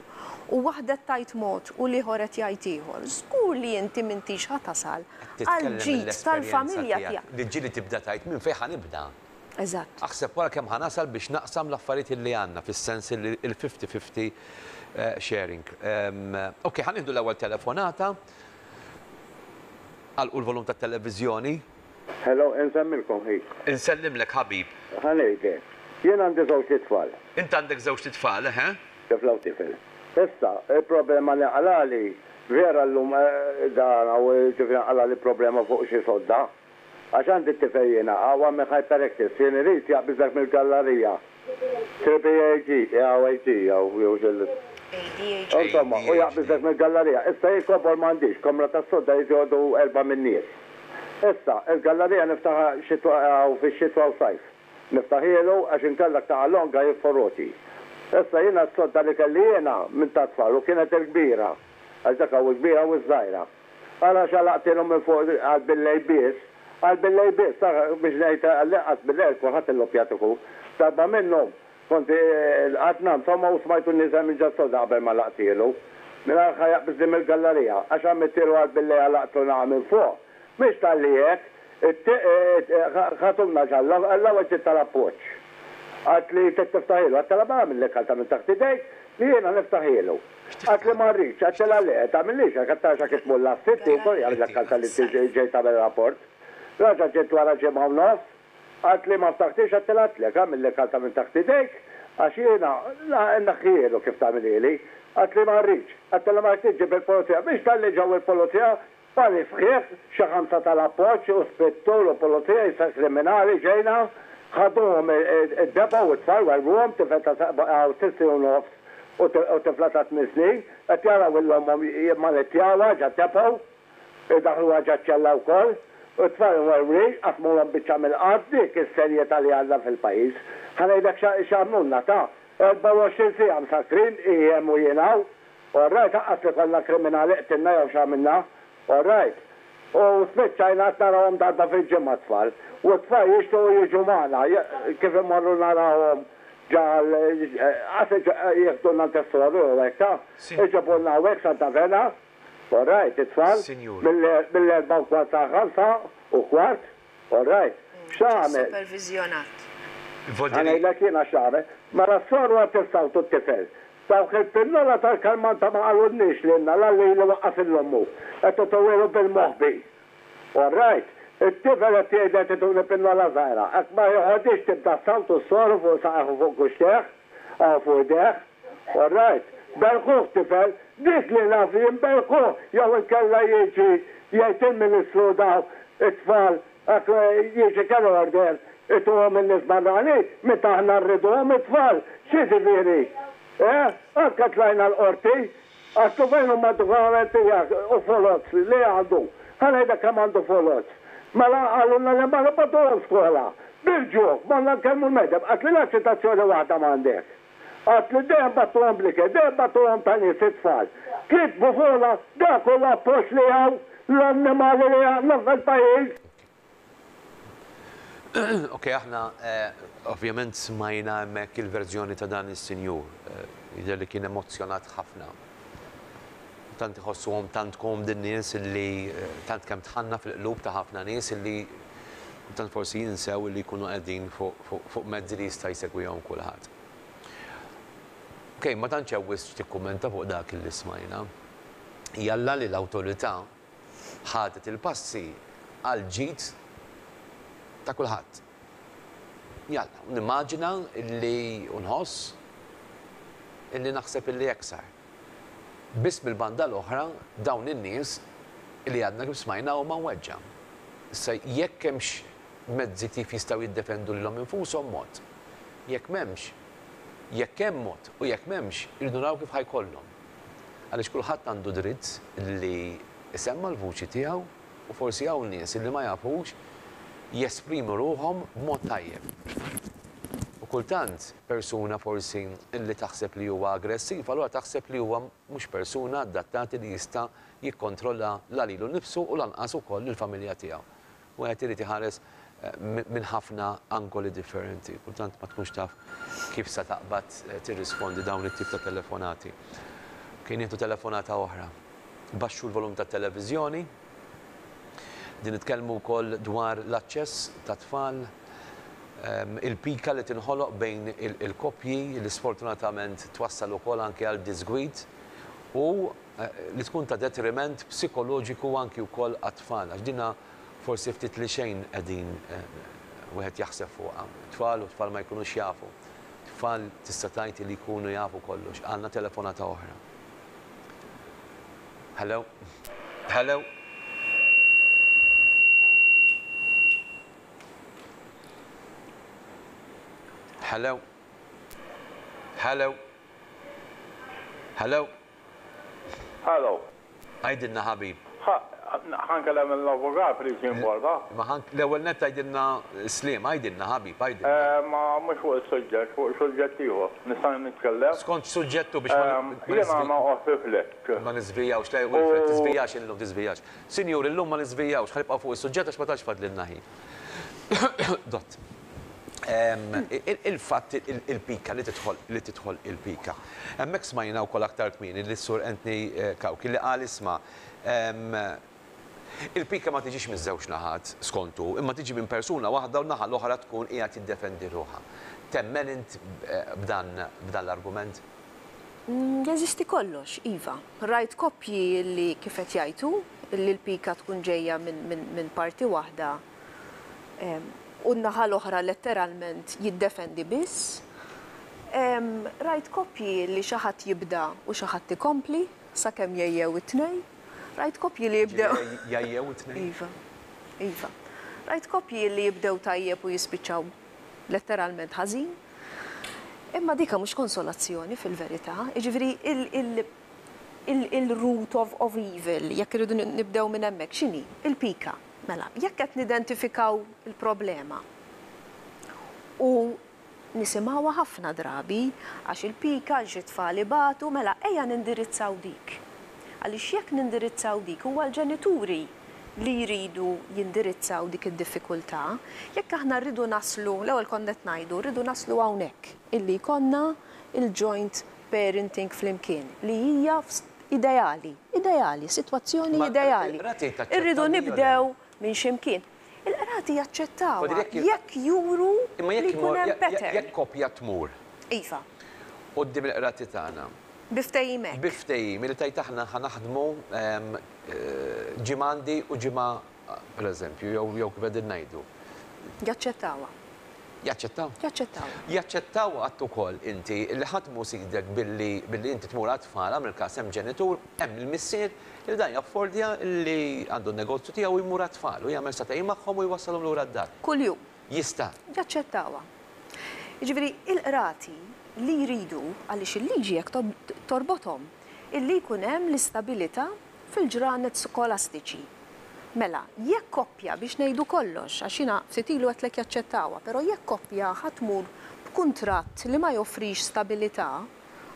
u waħda qed tgħid mod u l-ieħor qed jgħid ieħor, żgur li inti m'intix ħa tasal għall-ġid tal-familja tiegħek. Li ġieli tibda tgħid minn fejn ħa nibda. Eżatt. Aħseb wara kemm ħa nasal biex naqsam l-affarijiet li għandna fis-sens li l-50-50 sharing. Ok, ħa nieħdu l-ewwel telefonata. Għalqu l-volum tat-televiżjoni. Hello, insemmilkom ħi. Insellimlek ħabib. Ħa ngħidlek. Jien għandi żewġt itfal. Int għandek żewġt itfal, eħe. Tifla u tifel. Issa, il-problema li nqalagħli, vera llum dan hawn ġifieri nqalagħli problema fuq xi sodda. Għax għandi t-tifel jiena, hawn għamel hyperactive, jien irid jaqbiżlek mill-gallarija. Triple AG, AG, jew xi. Insomma, u jaqbiżlek mill-gallarija. Issa jien kobor m'għandix, kamra tas-sodda jrid joqogħdu erbgħa min-nies. Issa, il-gallarija niftaħha xitwa hawn fix-xitwa u sajf. Niftaħhielu għax inkella taqa' longa jifforoti. Issa jiena s-sodda li kelli jiena minn tat-tfal u kienet il-kbira, għax dak hawn il-kbira u ż-żgħira. Ara x'għalaqtielu minn fuq għal bil-lejl biss, għal bil-lejl biss, ara biex ngħid għall-inqas bil-lejl kulħadd illoppjat ikun. Darba minnhom kont qgħadna insomma u smajtu nieżel minn ġas-sodda qabel ma laqtielu. Mingħajr ħa jaqbiżli mill-gallarija għax għamiltielu għal bil-lejl għalaqtlu naqa' minn fuq. Mhix talli hekk, ħatuna ġalla, l-ewwel ġiet tal-appoġġ. Qaltli trid tiftaħielu, għedtilha mela għamilli kalta minn taħt idejk li jiena niftaħielu. Qaltli ma rridx, għedtilha le, tagħmillix hekk, għedtilha x'hekk tmur l-għas-sitt ieħor jagħmillek kalta li ġejt tagħmel rapport. Raġa' ġiet wara ġimgħa u nofs, qaltli ma ftaħtiex, għedtilha għedtlek għamilli kalta minn taħt idejk għax jiena nneħħihielu kif tagħmilhieli. Qaltli ma rridx, għedtilha ma tridx ġib il-pulizija. Mhix talli ġew il-pulizija, Pali sħiħ, xi ħamsa tal-appoġġ u spettur u pulizija jisa kriminali ġejna, ħaduhom id-depot u t-tfal werwruhom, tifel ta' sitt snin u nofs u tifla ta' tmien snin, qed jaraw 'il ommhom jimmanettjawha ġad-depot, idaħħluha ġaċ-ċella wkoll, u t-tfal imwerwrin, qasmulhom biċċa mill-art, dik is-serjetà li għandna fil-pajjiż. Ħa ngħidlek x'għamlulna ta' 24 siegħa msakkrin, hi hemm u jien hawn, All right, aqqas li konna kriminali qtilna jew x'għamilna. All right. U spiċċajna qed narawhom darba fil-ġimgħa t-tfal. U t-tfal jixtiequ jiġu magħna, kif immorru narawhom ġa qas jieħdulna għand is-soru jew hekk ta'. Iġibulna hawnhekk Santa Vena. All right, it-tfal. Mill-erbgħa u kwart sal-ħamsa u kwart. All right. X'għamel? Superviżjonat. Ħa ngħidlek jiena x'għamel. Mela s-soru qed tissawtu t-tifel. Dawk il-pinnola tal-kalmanta ma qalulniex lilna la lili waqqas 'il ommu. Qed ituwielu bil-moħbi. All right. It-tifel qed jgħidli qed ituni pinnola żgħira. Hekk ma jeħodhiex tibda ssawtu s-soru fuq saqajh u fuq kuxtejh. Hawn fuq idejh. All right. Berkuh tifel. Dik li naf jien berkuh jew inkella jiġi jgħid il-Ministru daw it-tfal hekk jiġi care order ituhom in-nies barranin meta aħna rriduhom it-tfal. X'jiġifieri? Eh? Anke tlajna l-Qorti Għedtlu fejn huma d-dokumenti tiegħek u foloz li għandu. Ħa ngħidlek kemm għandu foloz. Mela qalulna li ma nibgħatuhom skola. Bil-ġuħ, morna nkellmu l-medem, qaltli la ċitazzjoni waħda m'għandek. Qaltli dejjem bagħtuhom bl-ikel, dejjem bagħtuhom ta' nies it-tfal. Kitbu fuqna dak hu l-appoġġ li hawn l-annimali li għandna fil-pajjiż. Ok, aħna ovvjament smajna hemmhekk il-verżjoni ta' dan is-sinjur. Jidher li kien emozzjonat ħafna. Tant iħossuhom tant komdi n-nies illi tant kemm dħalna fil-qlub ta' ħafna nies illi kultant forsi jinsew illi jkunu qegħdin fuq mezzi li jista' jsegwihom kulħadd. Ok, ma tantx hemm wisq x'tikkummenta fuq dak illi smajna. Jalla li l-awtorità ħadet il-passi għall-ġid ta' kulħadd. Jalla, u nimmaġina illi u nħoss illi naħseb illi hekk sar. Biss mill-banda l-oħra dawn in-nies illi għadna kif smajna huma mweġġa'. Issa jekk hemmx mezzi kif jistgħu jiddefendu lilhom infushom mod. Jekk m'hemmx, jekk hemm mod u jekk m'hemmx, irridu naraw kif ħa jkollhom. Għaliex kulħadd għandu dritt li jsemma' l-vuċi tiegħu u forsi hawn nies li ma jafux jesprimu ruħhom b'mod tajjeb. U kultant persuna forsi li taħseb li huwa aggressiv allura taħseb li huwa mhux persuna adattati li jista' jikkontrolla la lilu nnifsu u lanqas ukoll lill-familja tiegħu. Wieħed irid iħares minn ħafna angoli differenti. Kultant ma tkunx taf kif sa taqbad tirrispondi dawn it-tip ta' telefonati. Kien nieħdu telefonata oħra. Baxxu l-volum tat-televiżjoni. Din nitkellmu wkoll dwar l-aċċess tat-tfal, il-pika li tinħoloq bejn il-koppji li sfortunatament twassal ukoll anke għal diżgwid u li tkun ta' detriment psikoloġiku anki wkoll għat-tfal għax dina forsi ftit li xejn qegħdin wieħed jaħseb fuqha. Tfal u tfal ma jkunux jafu. Tfal tista' tgħid li jkunu jafu kollox. Għandna telefonata oħra. Hello? Hello? Hello? Hello? Hello? Hello. Għidilna ħabib. Ħa nkellem l-avukat please jimporta. Ma ħa l-ewwel nett għidilna sliem, għidilna ħabib, għidilna. Ma mhux fuq is-suġġett, fuq suġġett ieħor. Nista' nitkellem? Skont x'suġġett hu biex ma Jiena noqgħod fi flat. Ma niżvijawx, le Wilfred, tiżvijax illum, tiżvijax. Sinjuri, illum ma niżvijawx, ħa nibqgħu fuq is-suġġett għax ma tantx fadlilna ħin. Dott. Il-fatt il-pika li tidħol li tidħol il-pika. Hemmhekk smajna wkoll aktar kmieni lis-Sur Anthony Cauchi li qal isma' il-pika ma tiġix miż-żewġ naħat skont hu, imma tiġi minn persuna waħda u n-naħa l-oħra tkun qiegħed jiddefendi ruħha. Temmen int b'dan b'dan l-argument? Jeżisti kollox, iva. Rajt koppji li kif qed jgħid hu, li l-pika tkun ġejja minn parti waħda u n-naħa l-oħra letteralment jiddefendi biss. Rajt koppji li xi ħadd jibda u xi ħadd ikompli sakemm jgħejjew it-tnejn. Rajt koppji li jibdew. Jgħejjew it-tnejn? Iva. Iva. Rajt koppji li jibdew tajjeb u jispiċċaw letteralment ħażin. Imma dika mhux konsolazzjoni fil-verità. Jiġifieri il-root of evil, jekk irridu nibdew minn hemmhekk, x'inhi? Il-pika. Mela, jekk qed nidentifikaw il-problema u nisimgħuha ħafna drabi, għax il-pika, għax it-tfal ibatu, mela ejja nindirizzaw dik. Għaliex jekk nindirizzaw dik huwa l-ġenituri li jridu jindirizzaw dik id-diffikultà. Jekk aħna rridu naslu, l-ewwel konna qed ngħidu, rridu naslu hawnhekk, illi jkollna l-joint parenting flimkien, li hija ideali, ideali, sitwazzjoni ideali. Irridu nibdew minn xi mkien. Il-qrati jaċċettawha jekk juru li jkun hemm pattern. Jekk koppja tmur. Iva. Quddiem il-qrati tagħna. Bi ftehim hekk. Bi ftehim li tgħid aħna ħa naħdmu ġimgħa għandi u ġimgħa pereżempju, jew kif qegħdin ngħidu. Jaċċettawha. Jaċċettaw? Jaċċettaw. Jaċċettaw għadt ukoll inti li ħadd mhu sidek billi billi inti tmur għat-tfal, agħmel każ hemm ġenitur, hemm il-missier li dan jaffordja li għandu n-negozju tiegħu u jmur għat-tfal u jagħmel sagħtejn magħhom u jwassalhom lura d-dar. Kuljum. Jista'. Jaċċettawha. Jiġifieri il-qrati li jridu, għaliex il-liġi hekk torbothom, illi jkun hemm l-istabilità fil-ġranet skolastiċi. Mela, jekk koppja, biex ngħidu kollox, għax jiena ftit ilu għedtlek jaċċettawha, però jekk koppja ħa tmur b'kuntratt li ma joffrix stabilità,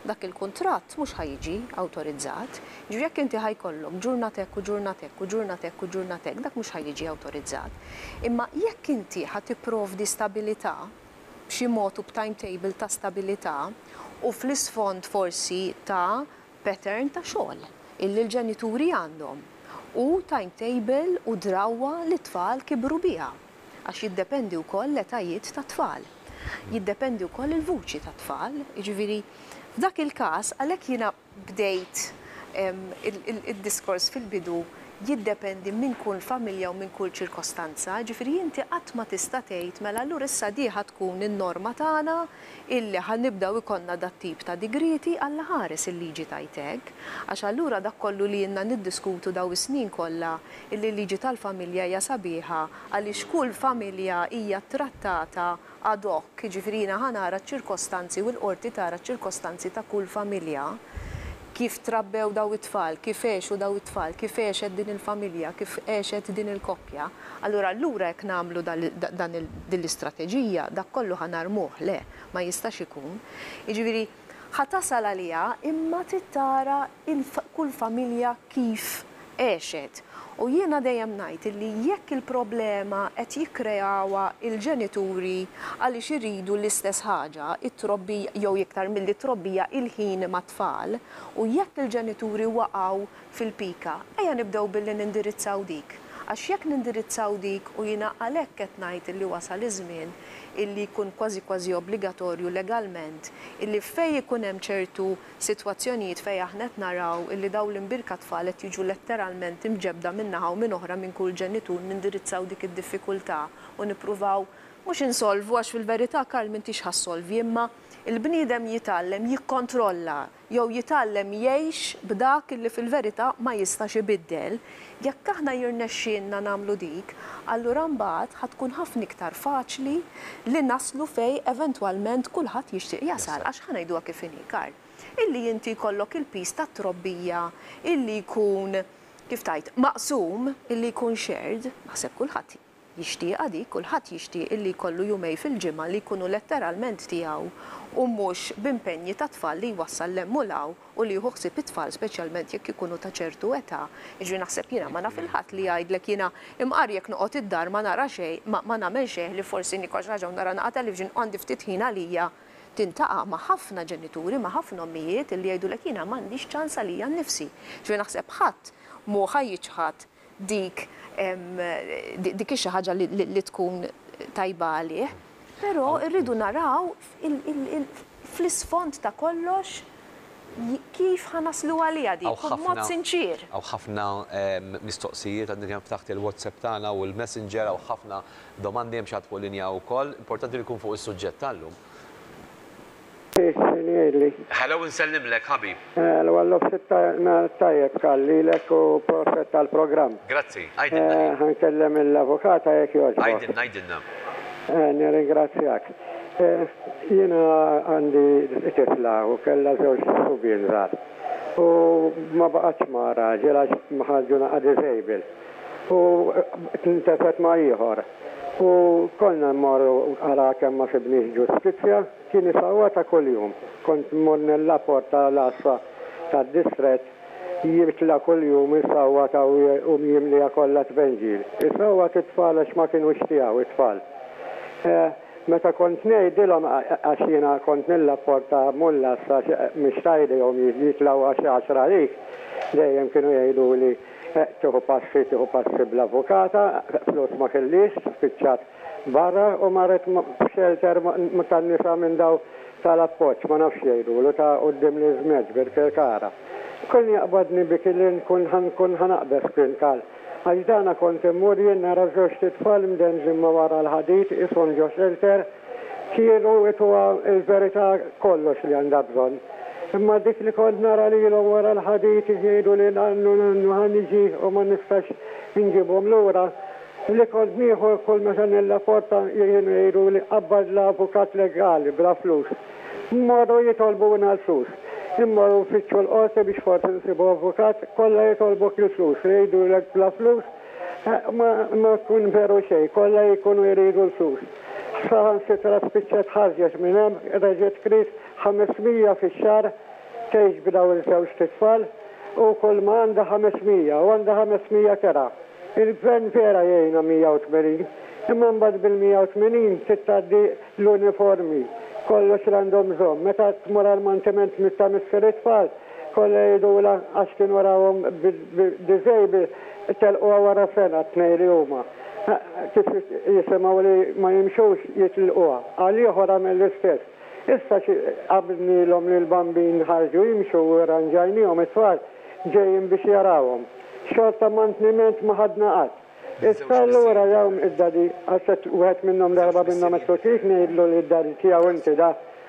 dak il-kuntratt mhux ħa jiġi awtorizzat. Jiġifieri jekk inti ħa jkollok ġurnata hekk u ġurnata hekk u ġurnata hekk u ġurnata hekk, dak mhux ħa jiġi awtorizzat. Imma jekk inti ħa tipprovdi stabilità, b'xi mod u b'timetable ta' stabilità, u fl-isfond forsi ta' pattern ta' xogħol illi l-ġenituri għandhom u timetable u drawwa li t-tfal kibru biha għax jiddependi wkoll l-etajiet tat-tfal. Jiddependi wkoll il-vuċi tat-tfal, jiġifieri f'dak il-każ għalhekk jiena bdejt id-diskors fil-bidu jiddependi minn kull familja u minn kull ċirkostanza, jiġifieri inti qatt ma tista' tgħid mela allura issa di ħa tkun in-norma tagħna illi ħa nibdew ikollna dat-tip ta' digrieti, Alla ħares il-liġi tgħid hekk, għax allura dak kollu li ilna niddiskutu daw is-snin kollha illi l-liġi tal-familja hija sabiħa għaliex kull familja hija ttrattata ad hoc, jiġifieri jiena ħa nara ċ-ċirkostanzi u l-qorti tara ċ-ċirkostanzi ta' kull familja, kif trabbew daw it-tfal, kif għexu daw it-tfal, kif għexet din il-familja, kif għexet din il-koppja, allura allura jekk nagħmlu dan din l-istrateġija, dak kollu ħa narmuh, le, ma jistax ikun. Jiġifieri ħa tasal għaliha imma trid tara kull familja kif għexet. U jiena dejjem ngħid illi jekk il-problema qed jikkreawha l-ġenituri għaliex iridu l-istess ħaġa, it-trobbija jew iktar milli t-trobbija il-ħin mat-tfal, u jekk il-ġenituri waqgħu fil-pika, ejja nibdew billi nindirizzaw dik. Għax jekk nindirizzaw dik u jiena għalhekk qed ngħid illi wasal iż-żmien illi jkun kważi kważi obbligatorju legalment illi fejn ikun hemm ċertu sitwazzjonijiet fejn aħna qed naraw illi dawn l-imbierka tfal qed jiġu letteralment imġebbda minn naħa u minn oħra minn kull ġenitur nindirizzaw dik id-diffikultà u nippruvaw mhux insolvu għax fil-verità Karl m'intix ħa ssolvi imma l-bniedem jitgħallem jikkontrolla jew jitgħallem jgħix b'dak illi fil-verità ma jistax ibiddel, jekk aħna jirnexxielna nagħmlu dik, allura mbagħad ħa tkun ħafna iktar faċli li naslu fejn eventwalment kulħadd jixtieq jasal. Għax ħa ngħiduha kif inhi, Karl, illi inti jkollok il-piż tat-trobbija illi jkun, kif tgħid, maqsum, illi jkun shared, naħseb kulħadd Jixtieqha dik, kulħadd jixtieq illi jkollu jumej fil-ġimgħa li jkunu letteralment tiegħu u mhux b'impenji ta' tfal li jwassal 'l hemm u 'l hawn u li jieħu ħsieb it-tfal speċjalment jekk ikunu ta' ċertu età. Jiġifieri naħseb jiena ma naf 'il ħadd li jgħidlek jiena imqar jekk noqgħod id-dar ma nara xejn, ma ma nagħmel xejn ħlief forsi niekol xi ħaġa u nara naqa' television u għandi ftit ħin għalija. Tintaqa' ma' ħafna ġenituri, ma' ħafna ommijiet illi jgħidulek jiena m'għandix ċans għalija nnifsi. Jiġifieri naħseb ħadd mhu ħa jiċħad dik dik hi xi ħaġa li tkun tajba għalih, però rridu naraw fl-isfond ta' kollox kif ħa naslu għaliha dik u b'mod sinċier. Hawn ħafna mistoqsijiet, għadni kemm ftaħt il-WhatsApp tagħna u l-Messenger, hawn ħafna domandi, hemm xi ħadd fuq linja wkoll. Importanti li jkun fuq is-suġġett tal-lum. X'inhi jgħidli? Hello insellimlek ħabib. Hello għal nofs nhar tajjeb Karl lilek u proset tal-programm. Grazzi. Għidilna ħi. Ħa nkellem lill-avukata jekk jogħġbok. Għidilna għidilna. Nirringrazzjak. Jiena għandi tifla u kellha żewġ subien żgħar. U ma baqgħetx ma' raġel għax ħarġu naqa' disable. U ntefgħet ma' ieħor. U konna mmorru ara kemm ma sibniex ġustizzja. Kien isawwatha ta' kuljum. Kont mmur nillapporta l-għassa tad-distrett, jitla' kuljum isawwatha u jimliha kollha tbenġil. Isawwat it-tfal għax ma kinux tiegħu it-tfal. Meta kont ngħidilhom għax jiena kont nillapporta mmur l-għassa għax mhix ta' jdejhom jitlgħu għax għaxra għalik, dejjem kienu jgħiduli tieħu passi, tieħu passi bl-avukata, flus ma kellhiex, spiċċat Barra u marret f'xelter tan-nisa minn daw tal-appoġġ, ma nafx x'jgħidulu, ta' quddiem l-iżmerġ bil-Kirkara. Kien jaqbadni biki li nkun ħa nkun ħa naqbeż kien qal. Għax dana kont immur jien nara żewġt itfal mdendlin ma' wara l-ħadid qishom ġo xelter, kienu ituha l-verità kollox li għandha bżonn. Imma dik li kont nara lilhom wara l-ħadid jgħiduli nannu nannu ħa niġi u ma nistax inġibhom lura, Li kont nieħu kull meta nillaporta kienu jgħiduli qabbadla avukat legali bla flus. Mmorru jitolbuna l-flus. Immorru nfittxu l-qorti biex forsi nsibu avukat, kollha jitolbuk il-flus, jgħidulek bla flus ma ma jkun veru xejn, kollha jkunu jridu l-flus. Saħansitra spiċċat ħarġet minn hemm, reġgħet kriet 500 fix-xahar tgħix b'dawn iż-żewġt itfal u kulma għandha 500 u għandha 500 kera. Il-Gvern vera jgħinha 180, imma mbagħad bil-180 trid tgħaddi l-uniformi, kollox li għandhom bżonn. Meta tmur għall-mantiment ta' missier it-tfal, kollha jgħidulha għax kienu rawhom bid-disable telquha wara sena t-tnejn li huma. Kif jisimgħu li ma jimxux jitlquha. Għal ieħor għamel l-istess. Issa xi qabilnielhom li l-bambin ħarġu jimxu u rranġajniehom it-tfal, ġejjin biex jarawhom. Xorta mantniment ma ħadna qatt. Issa allura dawn id-daddy, għax qed wieħed minnhom darba minnhom għedtlu trid ngħidlu li d-daddy tiegħu inti da?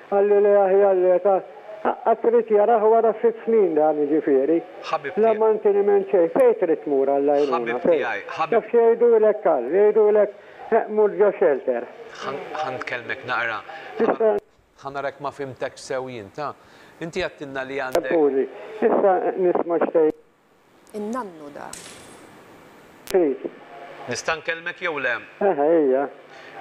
Qalli le aħjar le ta' qatt irid jarah wara sitt snin dan jiġifieri. Ħabib La tiegħi. manteniment xejn. Fejn trid tmur għall-għajnuna? Ħabib Fejn? tiegħi, ħabib. Taf x'jgħidulek Karl? Jgħidulek. Mur ġo shelter. Ħa nkellmek naqra. Ħa nara jekk ma fhimtekx sew jien, ta. Inti għedtilna li għandek. Skużi, issa nisma' x'tgħid. In-nannu dak. Trid. Nista' nkellmek jew le? Eħe, ejja.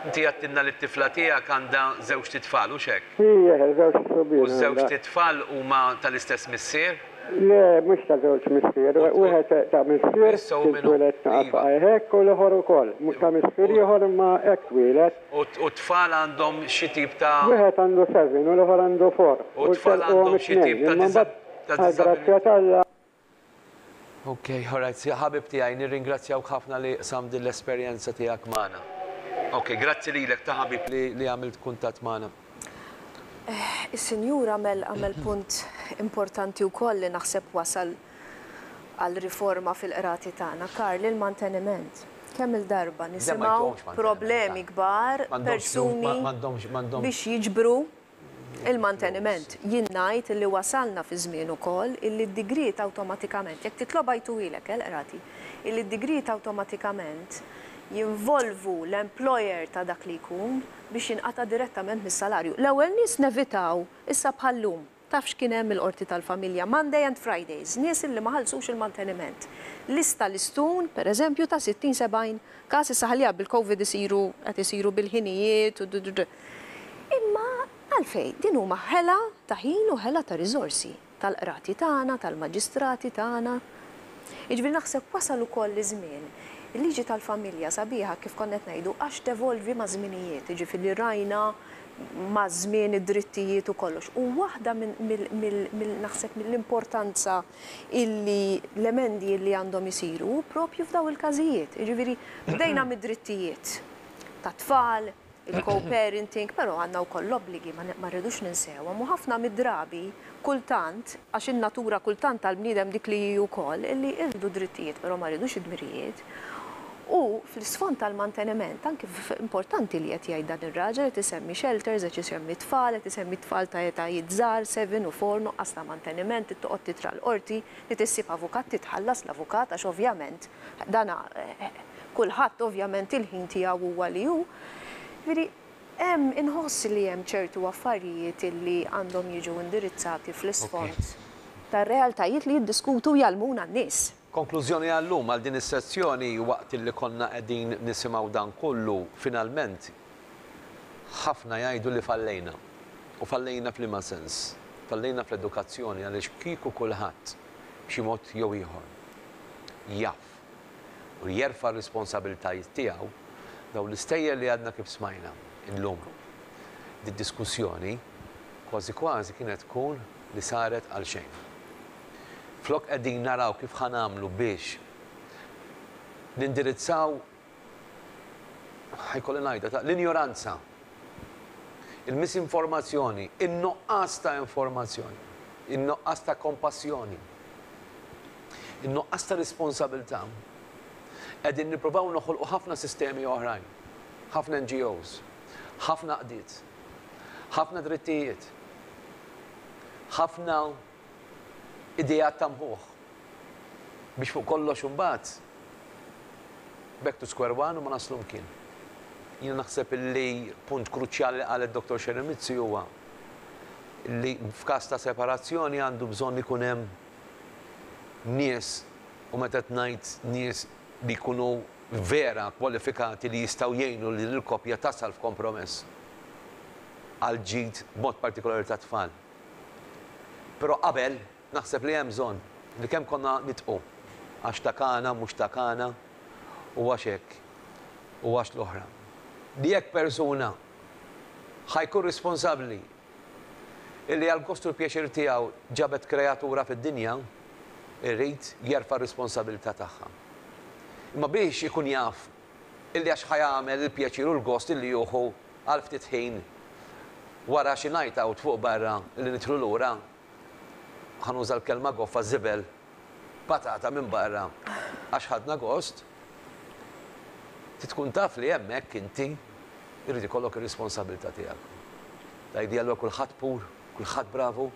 Inti għedtilna li t-tifla tiegħek għandha żewġt itfal, hux hekk? Ija, eħe, żewġt subien U ż-żewġt għandha. itfal huma tal-istess missier? Le, mhux ta' żewġ missier. Wieħed ta' missier Issa hu kien min hu? twieled naqa' Iva. hekk u l-ieħor ukoll. Ta' missier ieħor imma hekk twieled. U t-tfal għandhom xi tip ta'. Wieħed għandu seven u l-ieħor għandu four. U t-tfal għandhom xi tip ta' Imma mbagħad għall-grazzja diżabilità? t'Alla. Ok, alright, ħabib tiegħi, nirringrazzjawk ħafna li qsamt din l-esperjenza tiegħek magħna. Ok, grazzi lilek ta' ħabib li li għamilt kuntatt magħna. Is-Sinjur għamel għamel punt importanti wkoll li naħseb wasal għal riforma fil-qrati tagħna. Karl, il-manteniment. Kemm-il darba nisimgħu problemi kbar, persuni biex jiġbru Il-manteniment. Jien ngħid illi wasalna fi żmien ukoll illi d-digriet awtomatikament, jekk titlobha jtuhielek, eh, l-qrati, illi d-digriet awtomatikament jinvolvu l-employer ta' dak li jkun biex jinqata' direttament mis-salarju. L-ewwel nies nevitaw, issa bħal-lum, taf x'kien hemm il-Qorti tal-Familja, Monday and Fridays, nies illi ma ħallsux il-manteniment. Lista listun, per eżempju, ta' 60, 70 każ, issa ħalliha bil-Covid isiru, qed isiru bil-ħinijiet u d. Imma għalfejn? Din huma ħela ta' ħin u ħela ta' riżorsi tal-qrati tagħna, tal-maġistrati tagħna. Jiġifieri naħseb wasal ukoll iż-żmien. Il-liġi tal-familja sabiħa kif konna qed ngħidu għax tevolvi maż-żminijiet, jiġifieri rajna maż-żmien id-drittijiet u kollox. U waħda minn naħseb mill-importanza illi l-emendi illi għandhom isiru hu propju f'dawn il-każijiet. Jiġifieri bdejna mid-drittijiet tat-tfal, il-co-parenting, però għandna wkoll l-obbligi, ma rridux ninsewhom u ħafna mid-drabi, kultant, għax in-natura kultant tal-bniedem dik li hi wkoll, illi irridu drittijiet però ma rridux id-dmirijiet. U fl-isfond tal-manteniment, anki importanti li qed jgħid dan ir-raġel, qed isemmi shelters, qed isemmi tfal, qed isemmi tfal ta' etajiet żgħar, seven u four, nuqqas ta' manteniment, trid toqgħod titra l-qorti, trid issib avukat, trid tħallas l-avukat għax ovvjament dan Kulħadd ovvjament il-ħin tiegħu huwa li hu. Jiġifieri hemm inħoss li hemm ċertu affarijiet illi għandhom jiġu indirizzati fl-isfond tar-realtajiet li jiddiskutu u jgħallmuna n-nies. Konklużjoni għal-lum, għal din is-sezzjoni, waqt illi konna qegħdin nisimgħu dan kollu, finalment ħafna jgħidu li fallejna. U fallejna f'liema sens? Fallejna fl-edukazzjoni għaliex kieku kulħadd b'xi mod jew ieħor jaf u jerfa' r-responsabilitajiet tiegħu, dawn l-istejjer li għadna kif smajna illum, did-diskussjoni kważi kważi kienet tkun li saret għal xejn. Flok qegħdin naraw kif ħa nagħmlu biex nindirizzaw, ħa jkolli ngħidha, ta' l-injoranza, il-misinformazzjoni, in-nuqqas ta' informazzjoni, in-nuqqas ta' kompassjoni, In-nuqqas ta' responsabilità. Qegħdin nippruvaw noħolqu ħafna sistemi oħrajn, ħafna NGOs, ħafna għaqdiet, ħafna drittijiet, ħafna ideat ta' mħuħ biex fuq kollox imbagħad back to square one u ma naslu mkien. Jiena naħseb li punt kruċjali li qalet Dottor Sharon Mizzi huwa li f'każ ta' separazzjoni għandu bżonn ikun hemm nies, u meta qed ngħid nies li jkunu vera kwalifikati li jistgħu jgħinu lil il-koppja tasal f'kompromess għall-ġid b'mod partikolari tat-tfal. Però qabel naħseb li hemm bżonn li kemm konna nidqu għax ta' kana mhux ta' kana u għax hekk u għax l-oħra. Li jekk persuna ħa jkun responsabbli illi għall-gost u l-pjaċir tiegħu ġabet kreatura fid-dinja, irid jerfa' r-responsabilità tagħha. Imma biex ikun jaf illi għax ħa jagħmel il-pjaċir u l-gost illi jieħu għal ftit ħin wara xi night out fuq barra illi nidħlu lura, ħa nuża l-kelma goffa, żibel, patata minn barra għax ħadna gost, trid tkun taf li hemmhekk inti jrid ikollok ir-responsabilità tiegħek. Tgħidli allura kulħadd pur, kulħadd bravu,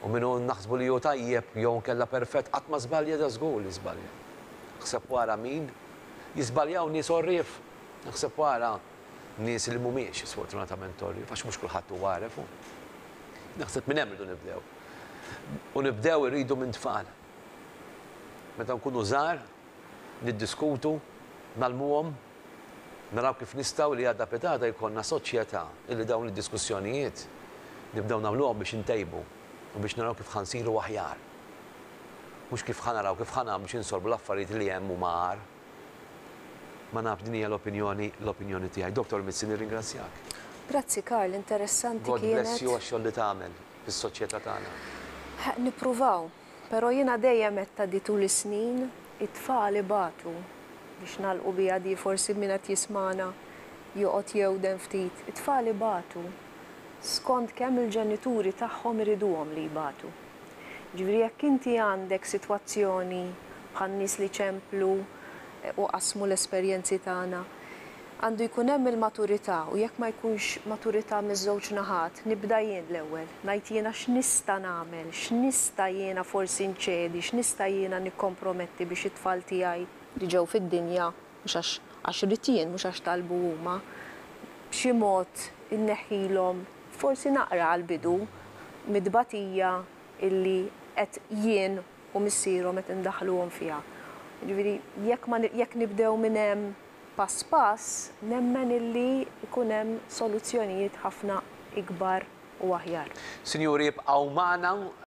u min hu naħsbu li hu tajjeb jew inkella perfett qatt ma żbalja da żgur li żbalja. Aħseb wara min jiżbaljaw nies għorrief. Naħseb wara nies li mhumiex sfortunatament torri, għax mhux kulħadd huwa għaref. Naħseb minn hemm irridu nibdew. U nibdew irridu minn tfal. Meta nkunu żgħar, niddiskutu, ngħallmuhom, naraw kif nistgħu li għada pitgħada jkollna soċjetà illi dawn id-diskussjonijiet nibdew nagħmluhom biex intejbu u biex naraw kif ħa nsiru aħjar. Mhux kif ħa naraw kif ħa nagħmlu biex insolvu l-affarijiet li hemm huma agħar. Ma nafx din hija l-opinjoni l-opinjoni tiegħi. Dottor Mizzi nirringrazzjak. Grazzi Karl, interessanti God bless kienet. you għax-xogħol li tagħmel fis-soċjetà tagħna. Nippruvaw, però jiena dejjem għedtha di tul is-snin, it-tfal ibatu, biex nagħlqu biha di forsi min qed jismagħna joqgħod jewden ftit, it-tfal ibatu skont kemm il-ġenituri tagħhom iriduhom li jbatu. Jiġifieri jekk inti għandek sitwazzjoni bħan-nies li ċemplu u qasmu l-esperjenzi tagħna, għandu jkun hemm il-maturità u jekk ma jkunx maturità miż-żewġ naħat, nibda jien l-ewwel, ngħid jiena x'nista' nagħmel, x'nista' jiena forsi nċedi, x'nista' jiena nikkomprometti biex it-tfal tiegħi li ġew fid-dinja mhux għax għax ridt jien, mhux għax talbu huma, b'xi mod inneħħilhom forsi naqra għall-bidu mit-tbatija illi qed jien u missierhom qed indaħħluhom fiha. Jiġifieri jekk ma jekk nibdew minn hemm pass pass, nemmen illi jkun hemm soluzzjonijiet ħafna ikbar u aħjar. Sinjuri, ibqgħu magħna.